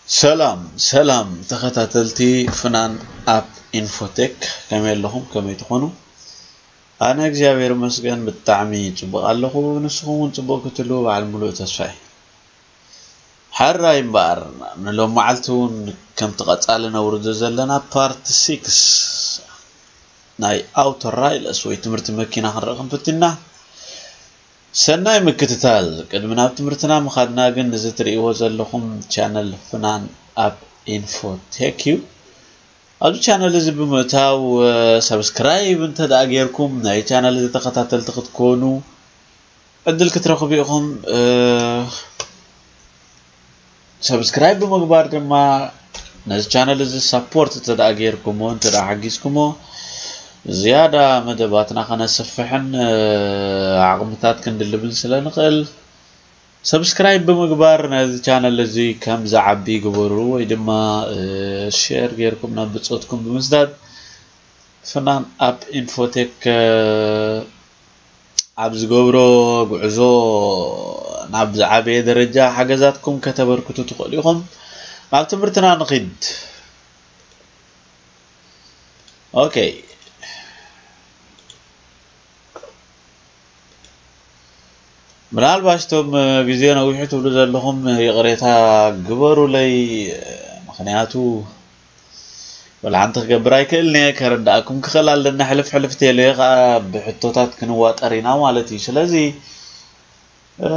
ሰላም ሰላም ተኸታተልቲ ፍናን ኣፕ ኢንፎቴክ፣ ከመይ ኣለኹም? ከመይ ትኾኑ? ኣነ እግዚኣብሔር ይመስገን ብጣዕሚ ጽቡቕ ኣለኹ። ንስኹም እውን ጽቡቕ ክትህልዉ በዓል ሙሉእ ተስፋ እየ። ሕራይ እምበኣር፣ ንሎም መዓልቲ እውን ከምቲ ቀጻሊ ነውርዶ ዘለና ፓርት ሲክስ ናይ ኣውቶ ራይለስ ወይ ትምህርቲ መኪና ክንርኢ ክንፍትና። ሰናይ ምክትታል። ቅድሚ ናብ ትምህርትና ምኻድና ግን፣ እዚ ትርእይዎ ዘለኹም ቻነል ፍናን ኣፕ ኢንፎቴክ እዩ። ኣብዚ ቻነል እዚ ብምእታው፣ እ፣ ሰብስክራይብ እንተ ደኣ ጌርኩም፣ ናይ ቻነል እዚ ተኸታተልቲ ክትኮኑ ዕድል ክትረኽቡ ኢኹም። እ፣ ሰብስክራይብ ብምግባር ድማ ነዚ ቻነል እዚ ሳፖርት እንተ ደኣ ጌርኩሞ፣ እንተ ደኣ ሓጊዝኩሞ፣ ዝያዳ መደባትና ከነስፍሕን፣ እ፣ ዓቕምታት ክንድልብን ስለ ንኽእል፣ ሰብስክራይብ ብምግባር ነዚ ቻነል እዚ ከም ዝዓቢ ግበሩ፣ ወይ ድማ፣ እ፣ ሼር ጌርኩም ናብ ብጾትኩም ብምስዳድ ፍናን ኣፕ ኢንፎቴክ፣ እ፣ ኣብ ዝገብሮ ጉዕዞ ናብ ዝዓበየ ደረጃ ሓገዛትኩም ከተበርክቱ ትኽእሉ ኢኹም። ናብ ትምህርትና ንኺድ። ኦኬ። ምናልባሽ እቶም፣ እ፣ ግዜ ነዊሑ ትብሉ ዘለኹም፣ እ፣ ይቕሬታ ግበሩለይ። እ፣ ምኽንያቱ ወላ ሓንቲ ክገብር ኣይክእልን እየ። ከረዳእኩም ክኽእል ኣለና። ሕልፍ ሕልፍ ቴሌ ኸኣ ብሕቶታት ክንዋጠር ኢና ማለት እዩ። ስለዚ፣ እ፣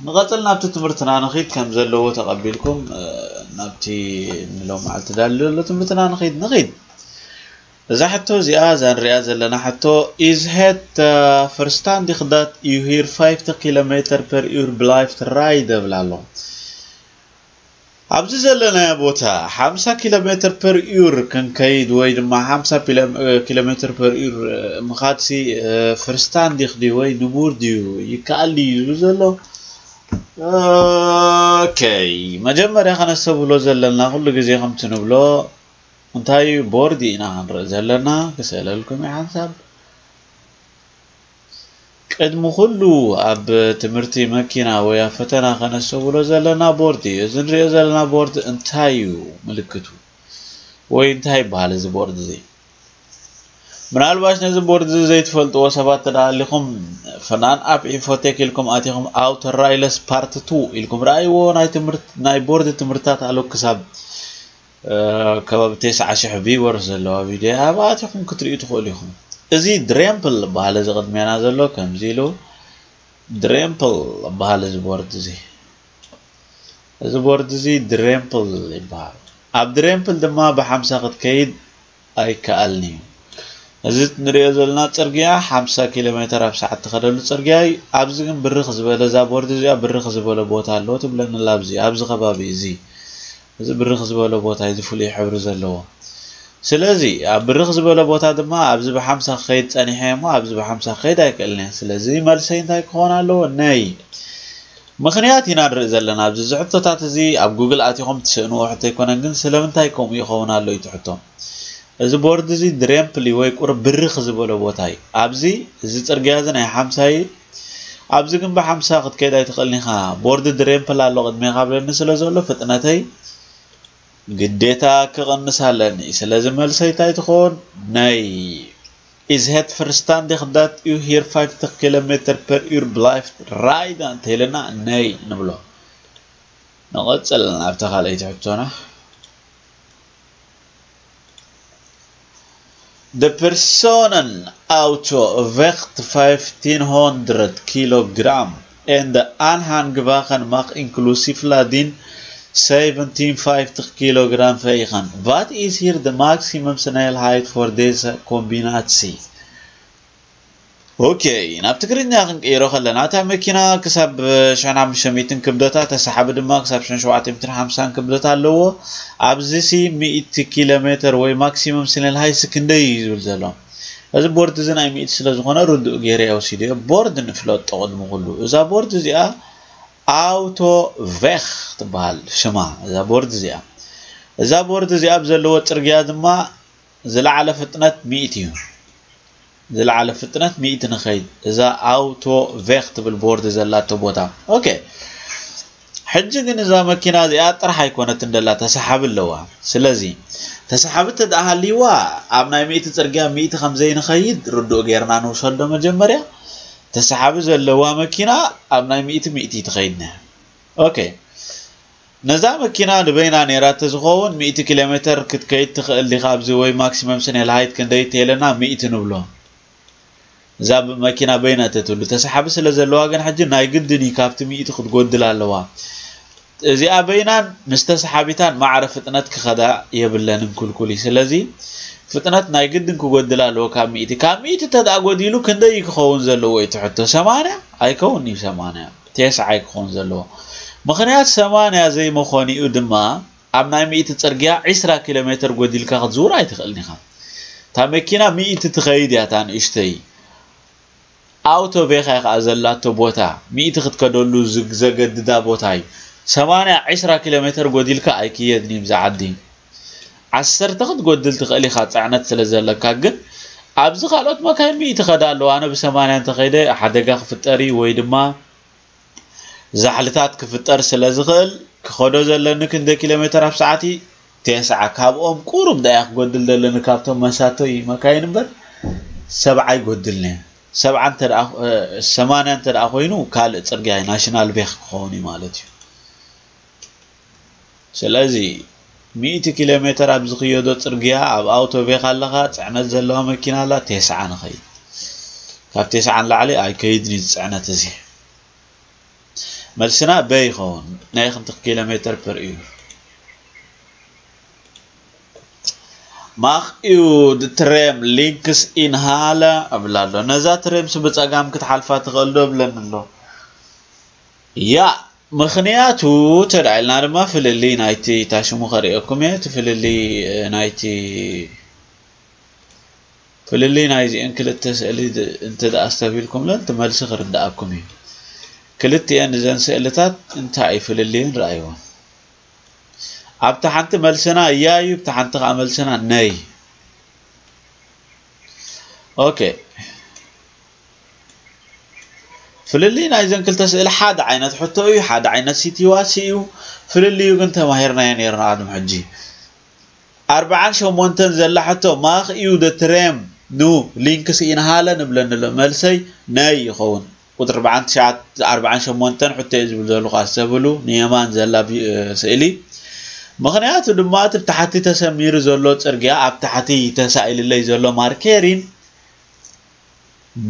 ንቐጽል፣ ናብቲ ትምህርትና ንኺድ። ከም ዘለዎ ተቐቢልኩም፣ እ፣ ናብቲ ንሎም መዓልቲ ዳሊ ዘሎ ትምህርትና ንኺድ፣ ንኺድ። እዛ ሕቶ እዚኣ፣ እዛ ንሪኣ ዘለና ሕቶ፣ is het, እ፣ verstandig dat u hier vijftig kilometer per uur blijft rijden? እብል ኣሎ። ኣብዚ ዘለናዮ ቦታ ሓምሳ ኪሎ ሜትር ፐር ኡር ክንከይድ ወይ ድማ ሓምሳ ፒለ-፣ እ፣ ኪሎ ሜትር ፐር ኡር፣ እ፣ ምኻድሲ፣ እ፣ ፍርስታንዲኽ ድዩ ወይ ንቡር ድዩ? ይከኣል ድዩ ዝብል ዘሎ? ኦኬ፣ መጀመርያ ከነስተብህሎ ዘለና፣ ኩሉ ግዜ ከምቲ ንብሎ፣ እንታይ እዩ? ቦርድ ኢና ክንርኢ ዘለና። ክስእለልኩም እዩ ሓንሳብ። ቅድሚ ኩሉ ኣብ ትምህርቲ መኪና ወይ ኣብ ፈተና ከነስተብህሎ ዘለና ቦርድ እዩ። እዚ ንሪኦ ዘለና ቦርድ እንታይ እዩ ምልክቱ? ወይ እንታይ ይበሃል እዚ ቦርድ እዚ? ምናልባሽ ነዚ ቦርድ እዚ ዘይትፈልጥዎ ሰባት እንተ ደኣ ሃሊኹም፣ ፍናን ኣፕ ኢንፎቴክ ኢልኩም ኣቲኹም ኣውቶ ራይለስ ፓርት ቱ ኢልኩም ረኣይዎ። ናይ ትምህርት-፣ ናይ ቦርድ ትምህርትታት ኣሎ ክሳብ እ፣ ከባቢ ተስዓ ሽሕ ቪወርስ ዘለዋ ቪድዮ እያ። ኣብኣ ኣቲኹም ክትርእዩ ትኽእሉ ኢኹም። እዚ ድሬምፕል ዝበሃል እዚ ቅድሜና ዘሎ ከምዚ ኢሉ ድሬምፕል ዝበሃል እዚ ቦርድ እዚ። እዚ ቦርድ እዚ ድሬምፕል ይበሃል። ኣብ ድሬምፕል ድማ ብሓምሳ ክትከይድ ኣይከኣልን እዩ። እዚ ንሪኦ ዘለና ጽርግያ ሓምሳ ኪሎ ሜትር ኣብ ሰዓት ትኸደሉ ጽርግያ እዩ። ኣብዚ ግን ብርኽ ዝበለ፣ እዛ ቦርድ እዚኣ ብርኽ ዝበለ ቦታ ኣለዎ ትብለና ኣላ። ኣብዚ፣ ኣብዚ ከባቢ እዚ፣ እዚ ብርኽ ዝበለ ቦታ እዩ፣ እዚ ፍሉይ ሕብሪ ዘለዎ። ስለዚ ኣብ ብርኽ ዝበለ ቦታ ድማ ኣብዚ ብሓምሳ ክኸይድ ጸኒሐ እሞ ኣብዚ ብሓምሳ ክኸይድ ኣይክእልን እየ። ስለዚ መልሰይ እንታይ ክኸውን ኣለዎ? ነይ። ምኽንያት ኢና ንርኢ ዘለና ኣብዚ። እዚ ሕቶታት እዚ ኣብ ጉግል ኣቲኹም ትስእንዎ ሕቶ ኣይኮነን፣ ግን ስለምንታይ ከምኡ ይኸውን ኣሎ እዩ እቲ ሕቶ። እዚ ቦርድ እዚ ድሬምፕሊ ወይ ቁሩብ ብርኽ ዝበሎ ቦታ እዩ። ኣብዚ፣ እዚ ጽርግያ እዚ ናይ ሓምሳ እዩ። ኣብዚ ግን ብሓምሳ ክትከይድ ኣይትኽእልን ኢኻ። ቦርድ ድሬምፕል ኣሎ ቅድሜኻ ብለኒ ስለ ዘሎ ፍጥነተይ ግዴታ ክቕንስ ኣለኒ። ስለዚ መልሰይ እንታይ ትኸውን? ነይ። Is het verstandig dat u hier vijftig kilometer per uur blijft rijden? እንተኢልና ነይ ንብሎ። ንቐጽል ናብታ ካልኣይቲ ሕቶና። De personenauto weegt vijftienhonderd kilogram en de aanhangwagen mag inclusief lading zeventienhonderdvijftig kilogram wegen. Wat is hier de maximumsnelheid voor deze combinatie? ኦኬ፣ ናብ ትግርኛ ክንቅይሮ ከለና፣ እታ መኪና ክሳብ ሽሕን ሓሙሽተ ሚእትን ክብደታ፣ ተሳሓቢ ድማ ክሳብ ሽሕን ሸውዓተ ሚእትን ሓምሳን ክብደት ኣለዎ። ኣብዚ ሲ ሚእቲ ኪሎ ሜትር ወይ ማክሲመም ስኔል ሃይስ ክንደይ እዩ ዝብል ዘሎ። እዚ ቦርድ እዚ ናይ ሚእቲ ስለ ዝኾነ ርዱእ ገይረ እየ ወሲደዮ። ቦርድ ንፍለጦ ቅድሚ ኩሉ። እዛ ቦርድ እዚኣ ኣውቶ ቬኽ ትበሃል ሽማ፣ እዛ ቦርድ እዚኣ። እዛ ቦርድ እዚኣ ኣብ ዘለዎ ጽርግያ ድማ ዝለዓለ ፍጥነት ሚእቲ እዩ። ዝለዓለ ፍጥነት ሚእቲ ንኸይድ። እዛ ኣውቶ ቬኽ ትብል ቦርድ ዘላቶ ቦታ። ኦኬ። ሕጂ ግን እዛ መኪና እዚኣ ጥራሕ ኣይኮነትን ደላ፣ ተሰሓቢ ኣለዋ። ስለዚ ተሰሓቢ እንተ ደኣ ሃልይዋ፣ ኣብ ናይ ሚእቲ ጽርግያ ሚእቲ ከም ዘይንኸይድ ርዱእ ጌርና ንውሰዶ። መጀመርያ ተሰሓቢ ዘለዋ መኪና ኣብ ናይ ሚእቲ ሚእቲ ትኸይድና። ኦኬ፣ ነዛ መኪና ንበይና ነይራ እንተዝኸውን ሚእቲ ኪሎ ሜትር ክትከይድ ትኽእል ዲኻ ኣብዚ፣ ወይ ማክሲመም ስኔል ሃይት ክንደይ ተይለና ሚእቲ ንብሎ። እዛ መኪና በይና ተትህሉ፣ ተሰሓቢ ስለ ዘለዋ ግን ሕጂ ናይ ግድን እዩ ካብቲ ሚእቲ ክትጎድል ኣለዋ። እዚኣ በይናን ምስ ተሰሓቢታን ማዕረ ፍጥነት ክኸዳ የብለንን፣ ክልኩል እዩ። ስለዚ ፍጥነት ናይ ግድን ክጎድል ኣለዎ ካብ ሚእቲ። ካብ ሚእቲ እንተ ደኣ ጎዲሉ ክንደይ እዩ ክኸውን ዘለዎ እቲ ሕቶ? ሰማንያ ኣይከውን እዩ፣ ሰማንያ፣ ተስዓ እዩ ክኸውን ዘለዎ። ምኽንያት ሰማንያ ዘይመኾኒኡ ድማ ኣብ ናይ ሚእቲ ጽርግያ ዒስራ ኪሎ ሜትር ጎዲልካ ክትዝውር ኣይትኽእልን ኢኻ። እታ መኪና ሚእቲ ትኸይድ እያ፣ እታ ንእሽተይ ኣውቶቬኻ እያ ከኣ ዘላቶ ቦታ፣ ሚእቲ ክትከደሉ ዝግ-፣ ዘገድዳ ቦታ እዩ። ሰማንያ ዒስራ ኪሎ ሜትር ጎዲልካ ኣይክየድን እዩ ብዛ ዓዲ። ዓሰርተ ክትጎድል ትኽእል ኢኻ፣ ጽዕነት ስለ ዘለካ። ግን ኣብዚ ካልኦት መካይን ሚእቲ ይኸዳ ኣለዋ። ኣነ ብሰማንያ እንተኸይደ ሓደጋ ክፍጠር እዩ ወይ ድማ ዛሕልታት ክፍጠር ስለ ዝኽእል፣ ክኸዶ ዘለኒ ክንደይ ኪሎ ሜትር ኣብ ሰዓት እዩ? ተስዓ። ካብኦም ቁሩብ ደኣ ክጎድል ዘለኒ ካብቶም መሳቶይ መካይን እምበር፣ ሰብዓ ይጎድልኒ። ሰብዓ እንተ ደኣ፣ እ፣ ሰማንያ እንተ ደኣ ኮይኑ፣ ካልእ ጽርግያ እዩ፣ ናሽናል ቬክ ክኸውን እዩ ማለት እዩ። ስለዚ ሚእቲ ኪሎ ሜትር ኣብ ዝኽየዶ ጽርግያ ኣብ ኣውቶቬክ ኣለኻ፣ ጽዕነት ዘለዋ መኪና ኣላ፣ ተስዓ ንኸይድ። ካብ ተስዓ ንላዕሊ ኣይከይድን እዩ ጽዕነት እዚ። መልስና በ ይኸውን። ናይ ክንት ኪሎ ሜትር ፐር እዩር። ማኽ እዩ ድትሬም ሊንክስ ኢንሃለ እብል ኣሎ። ነዛ ትሬምስ ብጸጋም ክትሓልፋ ትኽእል ዶ እብለኒ ኣሎ። ያ፣ ምኽንያቱ ተዳዒልና ድማ ፍልልይ ናይቲ፣ እታ ሽሙ ከርእየኩም እየ፣ እቲ ፍልልይ፣ እ፣ ናይቲ፣ ፍልልይ ናይዚአን ክልተ ስእሊ ድ-፣ እንተ ደኣ ኣስተብሂልኩምለን፣ እቲ መልሲ ክርድኣኩም እዩ። ክልቲአን እዘን ስእልታት እንታይ እዩ ፍልልየን? ረኣይወን። ኣብታ ሓንቲ መልስና እያ እዩ፣ ኣብታ ሓንቲ ከኣ መልስና ነይ። ኦኬ። ፍልልይ ናይዘን ክልተ ስእሊ ሓደ ዓይነት ሕቶ እዩ፣ ሓደ ዓይነት ሲትዋሲ እዩ። ፍልልዩ ግን ተማሂርናዮ ነይርና ቅድሚ ሕጂ። ኣርብዓን ሸሞንተን ዘላ ሕቶ፣ ማኽ እዩ ደትሬም ኑ ሊንክስ ኢንሃለ ንብለኒ ኣሎ። መልሰይ ነይ ይኸውን። ቁጽሪ ኣርብዓን ትሽዓተ፣ ኣርብዓን ሸሞንተን ሕቶ እየ ዝብል ዘለኹ፣ ኣስተብህሉ፣ ንየማን ዘላ ቢ-፣ ስእሊ። ምኽንያቱ ድማ እቲ ብታሕቲ ተሰሚሩ ዘሎ ጽርግያ ኣብ ታሕቲ ተሳኢልለይ ዘሎ ማርኬሪን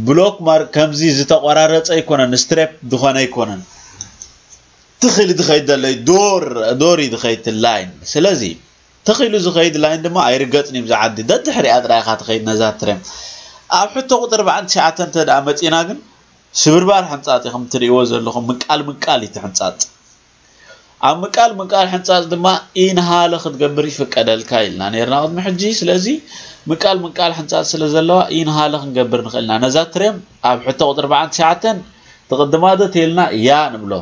ብሎክ ማር-፣ ከምዚ ዝተቆራረጸ ኣይኮነን፣ ስትሬፕ ዝኾነ ኣይኮነን። ትኽ ኢሉ ዝኸይድ ዘሎ እዩ፣ ዶር፣ ዶር እዩ ዝኸይድ እቲ ላይን። ስለዚ ትኽ ኢሉ ዝኸይድ ላይን ድማ ኣይርገጽን እዩ፣ ብዛ ዓዲ ደድሕሪኣ ጥራይ ኢኻ ትኸይድ ነዛ ትሬም። ኣብ ሕቶ ቁጽሪ ኣርብዓን ትሽዓተን እንተ ደኣ መጺና ግን ስብርባር ሕንጻጽ እዩ፣ ከም እትርእይዎ ዘለኹም ምቃል ምቃል እዩ እቲ ሕንጻጽ። ኣብ ምቃል ምቃል ሕንጻጽ ድማ ኢንሃለ ክትገብር ይፍቀደልካ ኢልና ነይርና ቅድሚ ሕጂ። ስለዚ ምቃል ምቃል ሕንጻጽ ስለ ዘለዋ ኢንሃለ ክንገብር ንኽእል ኢና። ነዛ ትሬም ኣብ ሕቶ ቁጽሪ ኣርብዓን ትሽዓተን ትቕድማ ዶ ተይልና እያ ንብሎ።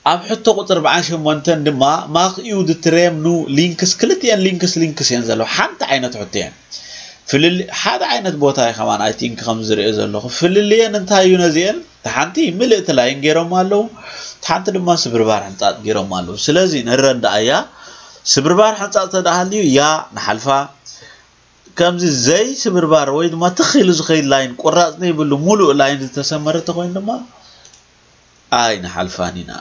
ኣብ ሕቶ ቁጽሪ ኣርብዓን ሸሞንተን ድማ ማኽ እዩ ድትሬም ኑ ሊንክስ፣ ክልቲኤን ሊንክስ ሊንክስ እየን ዘለዋ። ሓንቲ ዓይነት ሕቶ እየን። ፍልል-፣ ሓደ ዓይነት ቦታ እዩ ከማን፣ ኣይ ቲንክ፣ ከም ዝሪኦ ዘለኹ። ፍልልየን እንታይ እዩ ነዚአን? እታ ሓንቲ ምልእቲ ላይን ገይሮም ኣለዉ፣ እታ ሓንቲ ድማ ስብርባር ሕንጻጽ ገይሮም ኣለዉ። ስለዚ ንረዳእ እያ። ስብርባር ሕንጻጽ ተደኣ ሃልዩ እያ ንሓልፋ። ከምዚ ዘይ ስብርባር ወይ ድማ ትኽ ኢሉ ዝኸይድ ላይን፣ ቁራጽ ዘይብሉ ሙሉእ ላይን ዝተሰመረ ተኾይኑ ድማ ኣይንሓልፋን ኢና።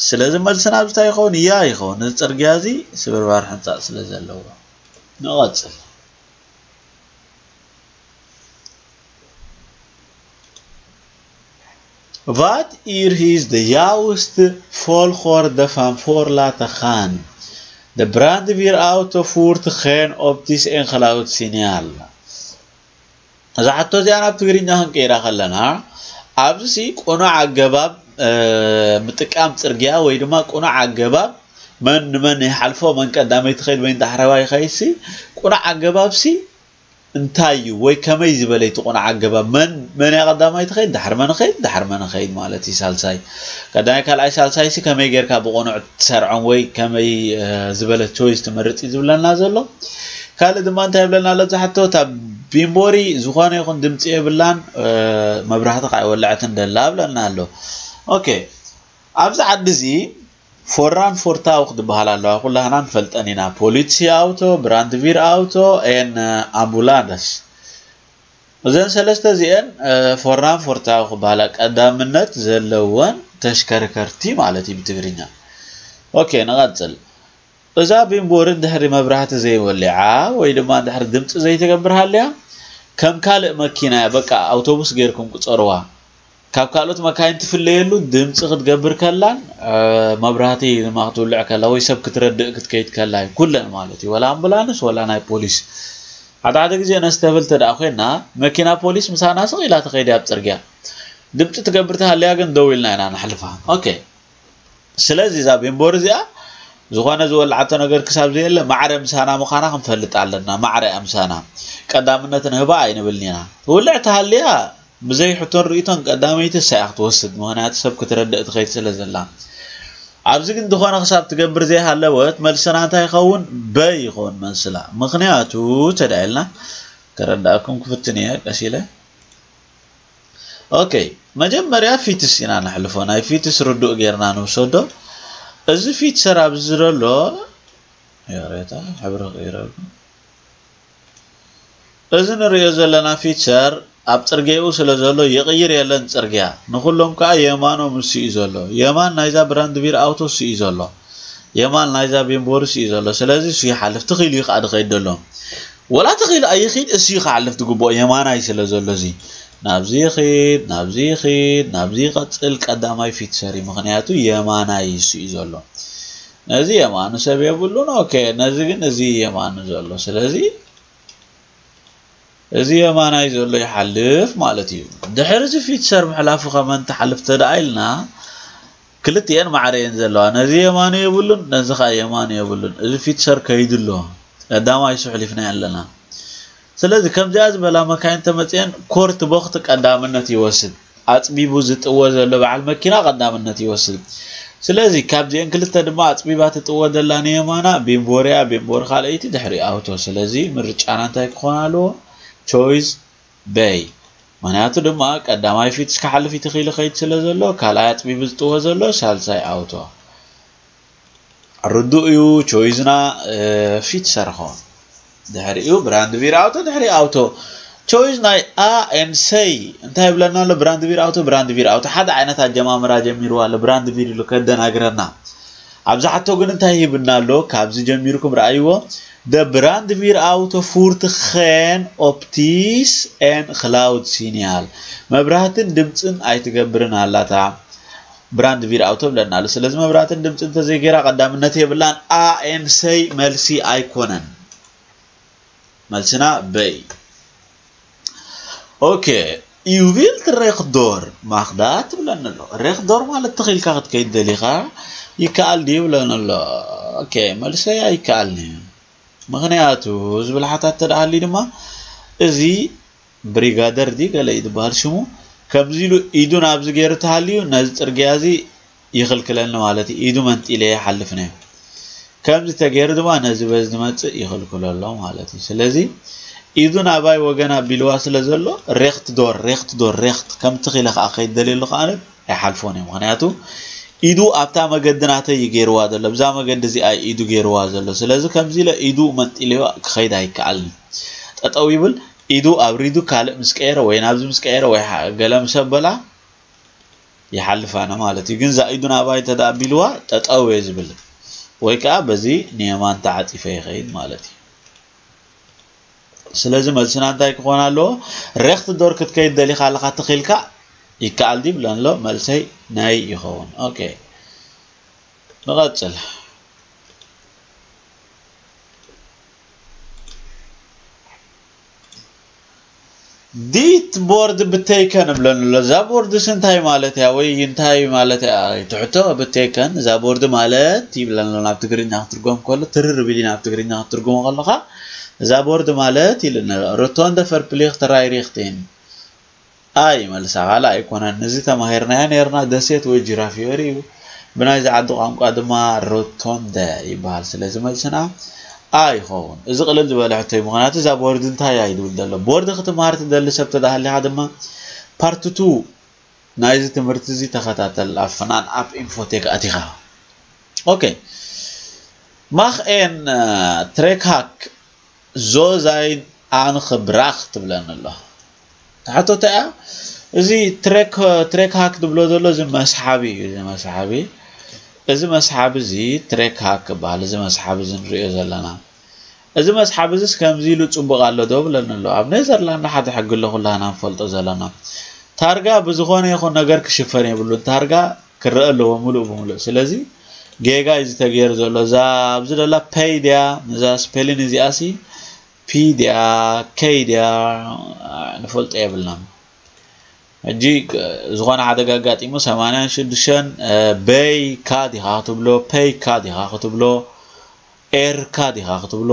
ስለዚ መልስና ኣብዚ እንታይ ይኸውን? እያ ይኸውን። እዚ ጽርግያ እዚ ስብርባር ሕንጻጽ ስለ ዘለዎ። ንቐጽል። Wat hier is de juiste volgorde van voorlaten gaan. De brandweer auto voert geen optisch en geluidssignaal. እዛ ሕቶ እዚኣ ናብ ትግርኛ ክንቀይራ ከለና፣ ኣብዚ ቁኑዕ ኣገባብ፣ እ፣ ምጥቃም ጽርግያ ወይ ድማ ቁኑዕ ኣገባብ መን ንመን ይሓልፎ፣ መን ቀዳመይ ትኸይድ ወይ ዳሕረዋይ ይኸይድሲ፣ ቁኑዕ ኣገባብሲ እንታይ እዩ ወይ ከመይ ዝበለ እቲ ቁኑዕ ኣገባብ? መን፣ መን እያ ቀዳማይ ትኸይድ፣ ዳሕሪ መን ኸይድ፣ ዳሕሪ መን ኸይድ ማለት እዩ። ሳልሳይ፣ ቀዳማይ፣ ካልኣይ፣ ሳልሳይሲ ከመይ ጌርካ ብቁኑዕ ትሰርዖም ወይ ከመይ፣ እ፣ ዝበለ ቾይስ ትመርጽ እዩ ዝብለና ዘሎ። ካልእ ድማ እንታይ ይብለና ኣሎ? ዝሓቶ እታ ቢምቦሪ ዝኾነ ይኹን ድምጺ የብላን፣ እ፣ መብራህቲ ከዓ ኣይወለዐትን ደላ ብለና ኣሎ። ኦኬ። ኣብዚ ዓዲ እዚ ፎራን ፎርታውክ ዝበሃላ ኣለዋ፣ ኩላህና ንፈልጠን ኢና። ፖሊትሲ ኣውቶ፣ ብራንድቪር ኣውቶ፣ ኤን ኣምቡላንስ። እዘን ሰለስተ እዚአን ፎራን ፎርታውክ ዝበሃላ ቀዳምነት ዘለወን ተሽከርከርቲ ማለት እዩ ብትግርኛ። ኦኬ፣ ንቐጽል። እዛ ቢምቦሪ ድሕሪ መብራህቲ ዘይወሊዓ ወይ ድማ ድሕሪ ድምፂ ዘይትገብር ሃልያ ከም ካልእ መኪና እያ። በቃ ኣውቶቡስ ጌርኩም ቁፀርዋ። ካብ ካልኦት መካይን ትፍለየሉ ድምፂ ክትገብር ከላን መብራህቲ ድማ ክትውልዕ ከላ ወይ ሰብ ክትረድእ ክትከይድ ከላ እዩ ኩለን ማለት እዩ። ወላ ኣምቡላንስ ወላ ናይ ፖሊስ። ሓደ ሓደ ግዜ ነስተብል ተደኣ ኮይና መኪና ፖሊስ ምሳና ስቕ ኢላ ትኸይድ ኣብ ፅርግያ። ድምፂ ትገብር ተሃልያ ግን ደው ኢልና ኢና ንሕልፋ። ኦኬ። ስለዚ እዛ ቢምቦር እዚኣ ዝኾነ ዝወልዓቶ ነገር ክሳብ ዘየለ ማዕረ ምሳና ምዃና ክንፈልጥ ኣለና። ማዕረ እያ ምሳና። ቀዳምነት ንህባ ኣይንብልን ኢና። ትውልዕ ተሃልያ ብዘይ ሕቶን ርእይቶን ቀዳመይቲ እሳ እያ ክትወስድ። ምኽንያቱ ሰብ ክትረድእ ትኸይድ ስለ ዘላ። ኣብዚ ግን ዝኾነ ክሳብ ትገብር ዘይሃለወት መልስና እንታይ ይኸውን? በይ ይኸውን መልስላ። ምኽንያቱ ተዳኢልና ከረዳእኩም ክፍትን እየ ቀስ ኢለ። ኦኬ፣ መጀመርያ ፊትስ ኢና ነሕልፎ። ናይ ፊትስ ርዱእ ጌርና ንውሰዶ። እዚ ፊትሰር ኣብዚ ዘሎ ይቕሬታ፣ ሕብሪ ክቕይረሉ። እዚ ንሪኦ ዘለና ፊትሰር ኣብ ጽርግያኡ ስለ ዘሎ ይቕይር የለን ጽርግያ። ንኹሎም ከኣ የማኖም እሱ እዩ ዘሎ። የማን ናይዛ ብራንድቪር ኣውቶ እሱ እዩ ዘሎ። የማን ናይዛ ቤምቦር እሱ እዩ ዘሎ። ስለዚ እሱ ይሓልፍ። ትኽኢሉ እዩ ከኣ ድኸይድ ደሎ። ወላ ተኺሉ ኣይኺድ፣ እሱ እዩ ክሓልፍ ዝግብኦ፣ የማናይ ስለ ዘሎ እዚ። ናብዚ ይኺድ፣ ናብዚ ይኺድ፣ ናብዚ ይቐጽል፣ ቀዳማይ ፊትሰር እዩ። ምኽንያቱ የማናይ እሱ እዩ ዘሎ። ነዚ የማኑ ሰብ የብሉን። ኦኬ፣ ነዚ ግን እዚ የማኑ ዘሎ። ስለዚ እዚ የማናይ ዘሎ ይሓልፍ ማለት እዩ። ድሕሪ እዚ ፊትሰር ምሕላፉ ከመን ትሓልፍ ተደኣ ኢልና፣ ክልቲኤን ማዕረ እየን ዘለዋ። ነዚ የማኑ የብሉን፣ ነዚ ኸኣ የማኑ የብሉን። እዚ ፊትሰር ከይዱ ኣሎ። ቀዳማይ እሱ ሕሊፍናዮ ኣለና። ስለዚ ከምዚኣ ዝበላ መካይን ተመፅየን ኮርት ቦኽት ቀዳምነት ይወስድ። ኣፅቢቡ ዝጥወ ዘሎ በዓል መኪና ቀዳምነት ይወስድ። ስለዚ ካብዚኤን ክልተ ድማ ኣፅቢባ ትጥወ ዘላ ንየማና ቤምቦርያ፣ ቤምቦር ካልኣይቲ ድሕሪ ኣውቶ። ስለዚ ምርጫና እንታይ ክኾን ኣለዎ? ቾይስ በይ። ምኽንያቱ ድማ ቀዳማይ ፊትስ ክሓልፍ እዩ ተኺሉ ከይድ ስለ ዘሎ፣ ካልኣይ ኣፅቢቡ ዝጥወ ዘሎ ሳልሳይ ኣውቶ። ርዱእ እዩ። ቾይዝና ፊትሰር ኾን። ድሕሪኡ ብራንድቪር ኣውቶ፣ ድሕሪ ኣውቶ። ቾይዝ ናይ A and C እንታይ ይብለና ኣሎ? ብራንድቪር ኣውቶ፣ ብራንድቪር ኣውቶ። ሓደ ዓይነት ኣጀማምራ ጀሚርዋ ኣሎ። ብራንድቪር ኢሉ ከደናግረና። ኣብዚ ሕቶ ግን እንታይ ሂብና ኣሎ? ካብዚ ጀሚርኩም ረኣይዎ። The brandweer auto voert geen optisch en geluidsignaal. መብራህትን ድምፅን ኣይትገብርን ኣላታ። ብራንድቪር ኣውቶ ብለና ኣሎ። ስለዚ መብራህትን ድምፅን እንተዘይገይራ ቀዳምነት የብላን። A and C መልሲ ኣይኮነን። መልስና በይ። ኦኬ፣ you wilt rechtdoor mag dat ትብለኒ ኣሎ። ሬክዶር ማለት ትኺልካ ክትከይድ ደሊኻ ይከኣል ድዩ ይብለኒ ኣሎ። ኦኬ፣ መልሰይ ኣይከኣልን እዩ። ምኽንያቱ ዝብል ሓታት ተደኣ ሃልዩ ድማ እዚ ብሪጋደር ድዩ ገለ እዩ ዝበሃል ሽሙ፣ ከምዚ ኢሉ ኢዱ ናብዚ ገይሩ ተሃልዩ ነዚ ጽርግያ እዚ ይኽልክለኒ ማለት እዩ። ኢዱ መንጢለ ይሓልፍ ነየ። ከምዚ ተገይሩ ድማ ነዚ በዚ ዝመጽእ ይኽልክሎ ኣሎ ማለት እዩ። ስለዚ ኢዱ ናባይ ወገን ኣቢልዋ ስለ ዘሎ ሬክት ዶር፣ ሬክት ዶር፣ ሬክት ከምቲ ኺለ ከዓ ከይደልየሉ ከዓ ኣይሓልፎን እዩ። ምኽንያቱ ኢዱ ኣብታ መገዲ ናተይ እዩ ገይርዋ ዘሎ። ብዛ መገዲ እዚኣ እዩ ኢዱ ገይርዋ ዘሎ። ስለዚ ከምዚ ኢለ ኢዱ መንጢለዮ ክኸይድ ኣይከኣልን። ጠጠው ይብል፣ ኢዱ ኣብሪዱ ካልእ ምስ ቀየረ ወይ ናብዚ ምስ ቀየረ ወይ ሓ-፣ ገለ ምስ ኣበላ ይሓልፍ ኣነ ማለት እዩ። ግን እዛ ኢዱ ናባይ እንተ ደኣ ኣቢልዋ ጠጠው እየ ዝብል። ወይ ከዓ በዚ ንየማን ተዓፂፈ ይኸይድ ማለት እዩ። ስለዚ መልስና እንታይ ክኾን ኣለዎ? ሬክት ዶር ክትከይድ ደሊኻ ኣለኻ ትኺልካ ይከኣል ድዩ ብለን ኣሎ። መልሰይ ናይ ይኸውን። ኦኬ። ንቐጽል። ዲት ቦርድ ብተይከን እብለን ኣሎ። እዛ ቦርድስ እንታይ ማለት እያ? ወይ እንታይ ማለት እያ? ትሕቶ ብተይከን። እዛ ቦርድ ማለት ይብለን ኣሎ። ናብ ትግርኛ ክትርጎም ከሎ፣ ትርር ቢሊ ናብ ትግርኛ ክትርጉሞ ከለኻ፣ እዛ ቦርድ ማለት ኢሉና ኣሎ። ሮቶንደ ቨርፕሊኽት ራይሪኽቲን። ኣይ መልሳ ካልእ ኣይኮነን። እዚ ተማሂርናዮ ነይርና፣ ደሴት ወይ ጂራፍ ዮሪ እዩ። ብናይዚ ዓዲ ቋንቋ ድማ ሮቶንደ ይበሃል። ስለዚ መልስና ኣ ይኸውን። እዚ ቅልል ዝበለ ሕቶ እዩ። ምኽንያቱ እዛ ቦርድ እንታይ እያ ይብል ዘሎ። ቦርድ ክትመሃር ትደሊ ሰብ ተዳሃሊኻ ድማ ፓርት ቱ ናይዚ ትምህርቲ እዚ ተኸታተል ኣብ ፍናን ኣፕ ኢንፎቴክ ኣቲኻ። ኦኬ። ማኽ ኤን ትሬክ ሃክ ዞ ዛይን ኣንኽ ብራኽ ትብለኒ ኣሎ። ሕቶ እንታይ እያ? እዚ ትሬክ ትሬክ ሃክ ትብሎ ዘሎ እዚ መስሓቢ እዩ። እዚ መስሓቢ እዚ መስሓቢ እዚ ትሬክ ሃክ ይበሃል። እዚ መስሓቢ እዚ ንሪኦ ዘለና እዚ መስሓብ እዚስ ከምዚ ኢሉ ጽቡቕ ኣሎ ዶ ብለኒ ኣሎ። ኣብ ኔዘርላንድ ሓደ ሕጊ ኣሎ፣ ኩላህና ንፈልጦ ዘለና። ታርጋ ብዝኾነ ይኹን ነገር ክሽፈን የብሉን። ታርጋ ክረአ ኣለዎ ምሉእ ብምሉእ። ስለዚ ጌጋ እዩ ዝተገይር ዘሎ። እዛ ኣብዚ ደላ ፐይ ድያ፣ ነዛ ስፔሊን እዚኣሲ ፒ ድያ፣ ከይ ድያ፣ ንፈልጦ የብልናን። ሕጂ ዝኾነ ሓደጋ ኣጋጢሙ ሰማንያን ሽዱሽተን በይ ካ ዲኻ ክትብሎ፣ ፐይ ካ ዲኻ ክትብሎ፣ ኤር ካ ዲኻ ክትብሎ፣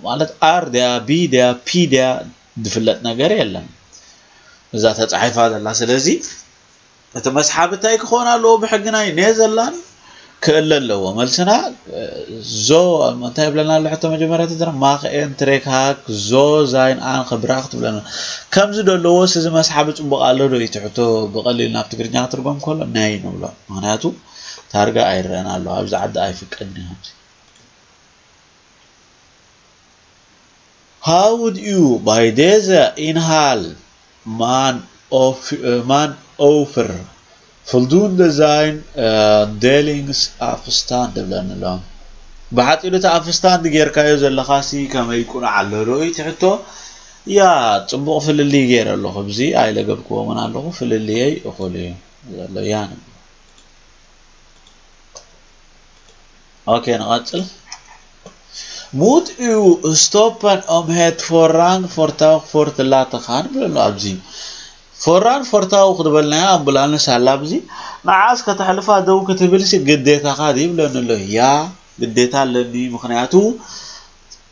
ማለት ኣር ድያ፣ ቢ ድያ፣ ፒ ድያ ዝፍለጥ ነገር የለን። እዛ ተጻሒፋ ዘላ። ስለዚ እቲ መስሓብ እንታይ ክኾን ኣለዎ? ብሕጊ ናይ ኔዘርላንድ ክእለ ኣለዎ። መልስና ዞ እንታይ ይብለና ኣሎ? ሕቶ መጀመርያ ተዘራ ማኽ ኤን ትሬክ ሃክ ዞ ዛይን ኣን ክብራኽ ትብለና። ከምዚ ዶ ኣለዎስ እዚ መስሓብ ጽቡቕ ኣሎ ዶ? እቲ ሕቶ ብቐሊል ናብ ትግርኛ ክትርጎም ከሎ ናይ ንብሎ። ምኽንያቱ ታርጋ ኣይረአን ኣሎ። ኣብዚ ዓዲ ኣይፍቀድን እዩ። How would you by deze inhaal man of man over voldoende zijn uh, delings afstand ብለኒ ኣሎ። ብሓፂሩ እቲ ኣፍስታንድ ጌርካዮ ዘለኻሲ ከመይ ቁኑዕ ኣሎ ዶ? እቲ ሕቶ ያ ፅቡቕ ፍልልይ ገይረ ኣለኹ። ብዚ ኣይለገብክዎምን ኣለኹ። ፍልልየይ እኹል እዩ ዘሎ። ያ ንብሎ። ኦኬ፣ ንቐጽል። Moet u stoppen om het voorrang voertuig voor te laten gaan ብለሎ ኣብዚ። ፎራን ፎርታው ክትበልናያ ኣምቡላንስ ኣላ ኣብዚ። ንዓስ ከተሕልፋ ደው ክትብልሲ ግዴታኻ ድዩ ብለኒ ኣሎ። ያ፣ ግዴታ ኣለኒ። ምኽንያቱ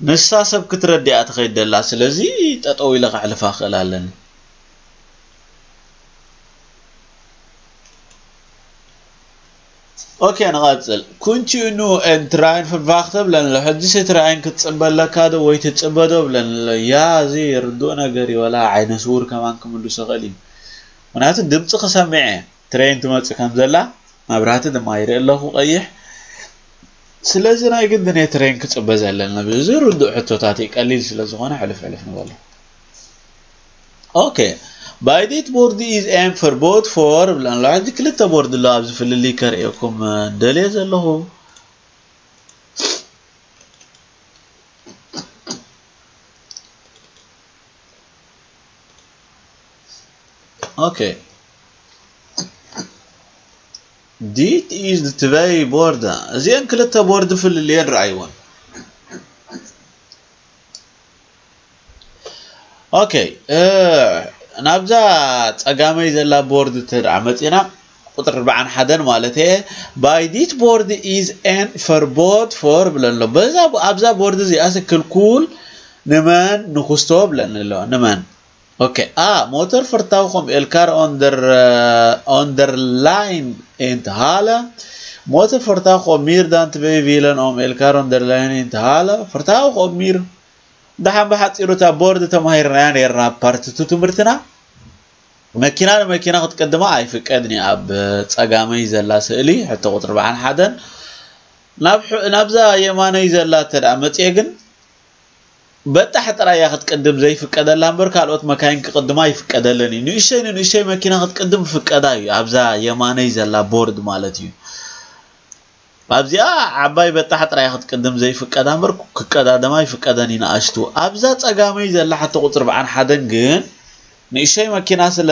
ንሳ ሰብ ክትረድእ እያ ትኸይድ ደላ። ስለዚ ጠጠው ኢለ ከሕልፋ ክእል ኣለኒ። ኦኬ፣ ንቐጽል። Kunt u nu een trein verwachten ብለኒ ኣሎ። ሕጂስ ትራይን ክትጽበ ኣለካ ዶ ወይ ትጽበ ዶ ብለኒ ኣሎ። ያ፣ እዚ ርዱእ ነገር እዩ። ወላ ዓይነ ስውር ከማን ክምልሶ ይኽእል እዩ። ምኽንያቱ ድምጺ ክሰምዕ እየ። ትሬን ትመጽእ ከም ዘላ፣ መብራህቲ ድማ ይርኢ ኣለኹ ቀይሕ። ስለዚ ናይ ግድን እየ ትሬን ክጽበ ዘለና። እዚ ርዱእ ሕቶታት እዩ። ቀሊል ስለ ዝኾነ ሕልፍ ሕልፍ ንበሎ። ኦኬ። Bij dit bord is een verbod voor ብለን ኣሎ። ሕጂ ክልተ ቦርድ ኣሎ ኣብዚ ፍልልይ ከርእየኩም ደልየ ዘለኹ። ኦኬ። Dit is de twee borden. እዚአን ክልተ ቦርድ ፍልልየን ረኣይወን። ኦኬ፣ እ፣ ናብዛ ጸጋመይ ዘላ ቦርድ እንተ ደኣ መጺና፣ ቁጥሪ ኣርባዓን ሓደን ማለት እየ። Bij dit bord is een verbod voor ብለን ኣሎ። በዛ፣ ኣብዛ ቦርድ እዚኣስ ክልኩል ንመን ንኹስቶ ብለን ኣሎ። ንመን? ኦኬ፣ A, motorvertuig om elkaar onder, eh, onderlijn in te halen. Motorvertuig om meer dan twee wielen om elkaar onderlijn in te halen. Vertuig om meer. ደሓን ብሓጺሩ እታ ቦርድ ተማሂርናያ ነይርና ኣብ ፓርት ቱ ትምህርትና። መኪና ንመኪና ክትቅድማ ኣይፍቀድን እዩ። ኣብ ጸጋመይ ዘላ ስእሊ ሕቶ ቁጽሪ ኣርባዓን ሓደን ናብ ሕ-፣ ናብዛ የማነይ ዘላ እንተ ደኣ መጽየ ግን በጣሕ ጥራይ እያ ክትቅድም ዘይፍቀደላ እምበር ካልኦት መካይን ክቅድማ ኣይፍቀደለን እዩ። ንእሽተይ ንንእሽተይ መኪና ክትቅድም ፍቀዳ እዩ። ኣብዛ የማነይ ዘላ ቦርድ ማለት እዩ። ኣብዚኣ ዓባይ በጣሕ ጥራይ ክትቅድም ዘይፍቀዳ እምበር ክቀዳደማ ይፍቀደን እዩ ንኣሽቱ። ኣብዛ ጸጋመይ ዘላ ሕቶ ቁጽሪ ኣርባዓን ሓደን ግን ንእሽተይ መኪና ስለ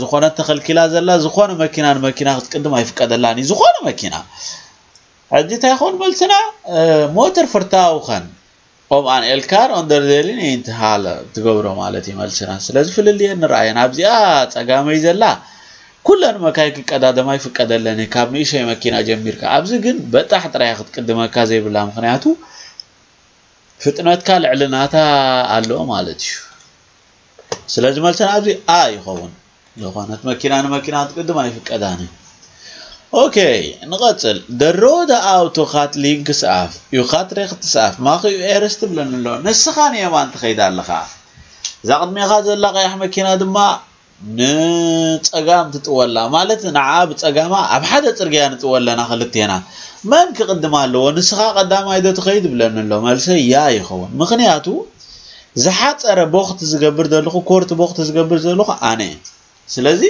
ዝኾነት ተኸልኪላ ዘላ፣ ዝኾነ መኪና ንመኪና ክትቅድም ኣይፍቀደላን እዩ። ዝኾነ መኪና። ሕጂ እንታይ ይኸውን መልስና? እ፣ ሞተር ፍርታውኸን ኦም ኣን ኤልካር ኦንደርዴሊን ኢንትሃለ ትገብሮ ማለት እዩ መልስና። ስለዚ ፍልልየን ንረኣየን። ኣብዚኣ ጸጋመይ ዘላ ኩለን መካይ ክቀዳደማ ይፍቀደለን እዩ፣ ካብ ንእሽተይ መኪና ጀሚርካ። ኣብዚ ግን በጣሕ ጥራይ ክትቅድመካ ዘይብላ፣ ምኽንያቱ ፍጥነትካ ልዕሊ ናታ ኣሎ ማለት እዩ። ስለዚ መልስና ኣብዚ A ይኸውን። ዝኾነት መኪና ንመኪና ክትቅድም ኣይፍቀዳን እዩ። ኦኬ፣ ንቐጽል። De rode auto gaat links af. U gaat rechts af. Mag u eerst ብለኒ ኣሎ። ንስኻ ንየማን ትኸይድ ኣለኻ። እዛ ቅድሜኻ ዘላ ቀያሕ መኪና ድማ ንጸጋም ትጥወላ ማለት ንዓ ብጸጋማ ኣብ ሓደ ጽርግያ ንጥወለና ክልቴና። መን ክቕድም ኣለዎ? ንስኻ ቀዳማይ ዶ ትኸይድ? ብለኒ ኣሎ። መልሰይ ያ ይኸውን። ምኽንያቱ ዝሓጸረ ቦኽት ዝገብር ዘለኹ፣ ኮርት ቦኽት ዝገብር ዘለኹ ኣነ እየ። ስለዚ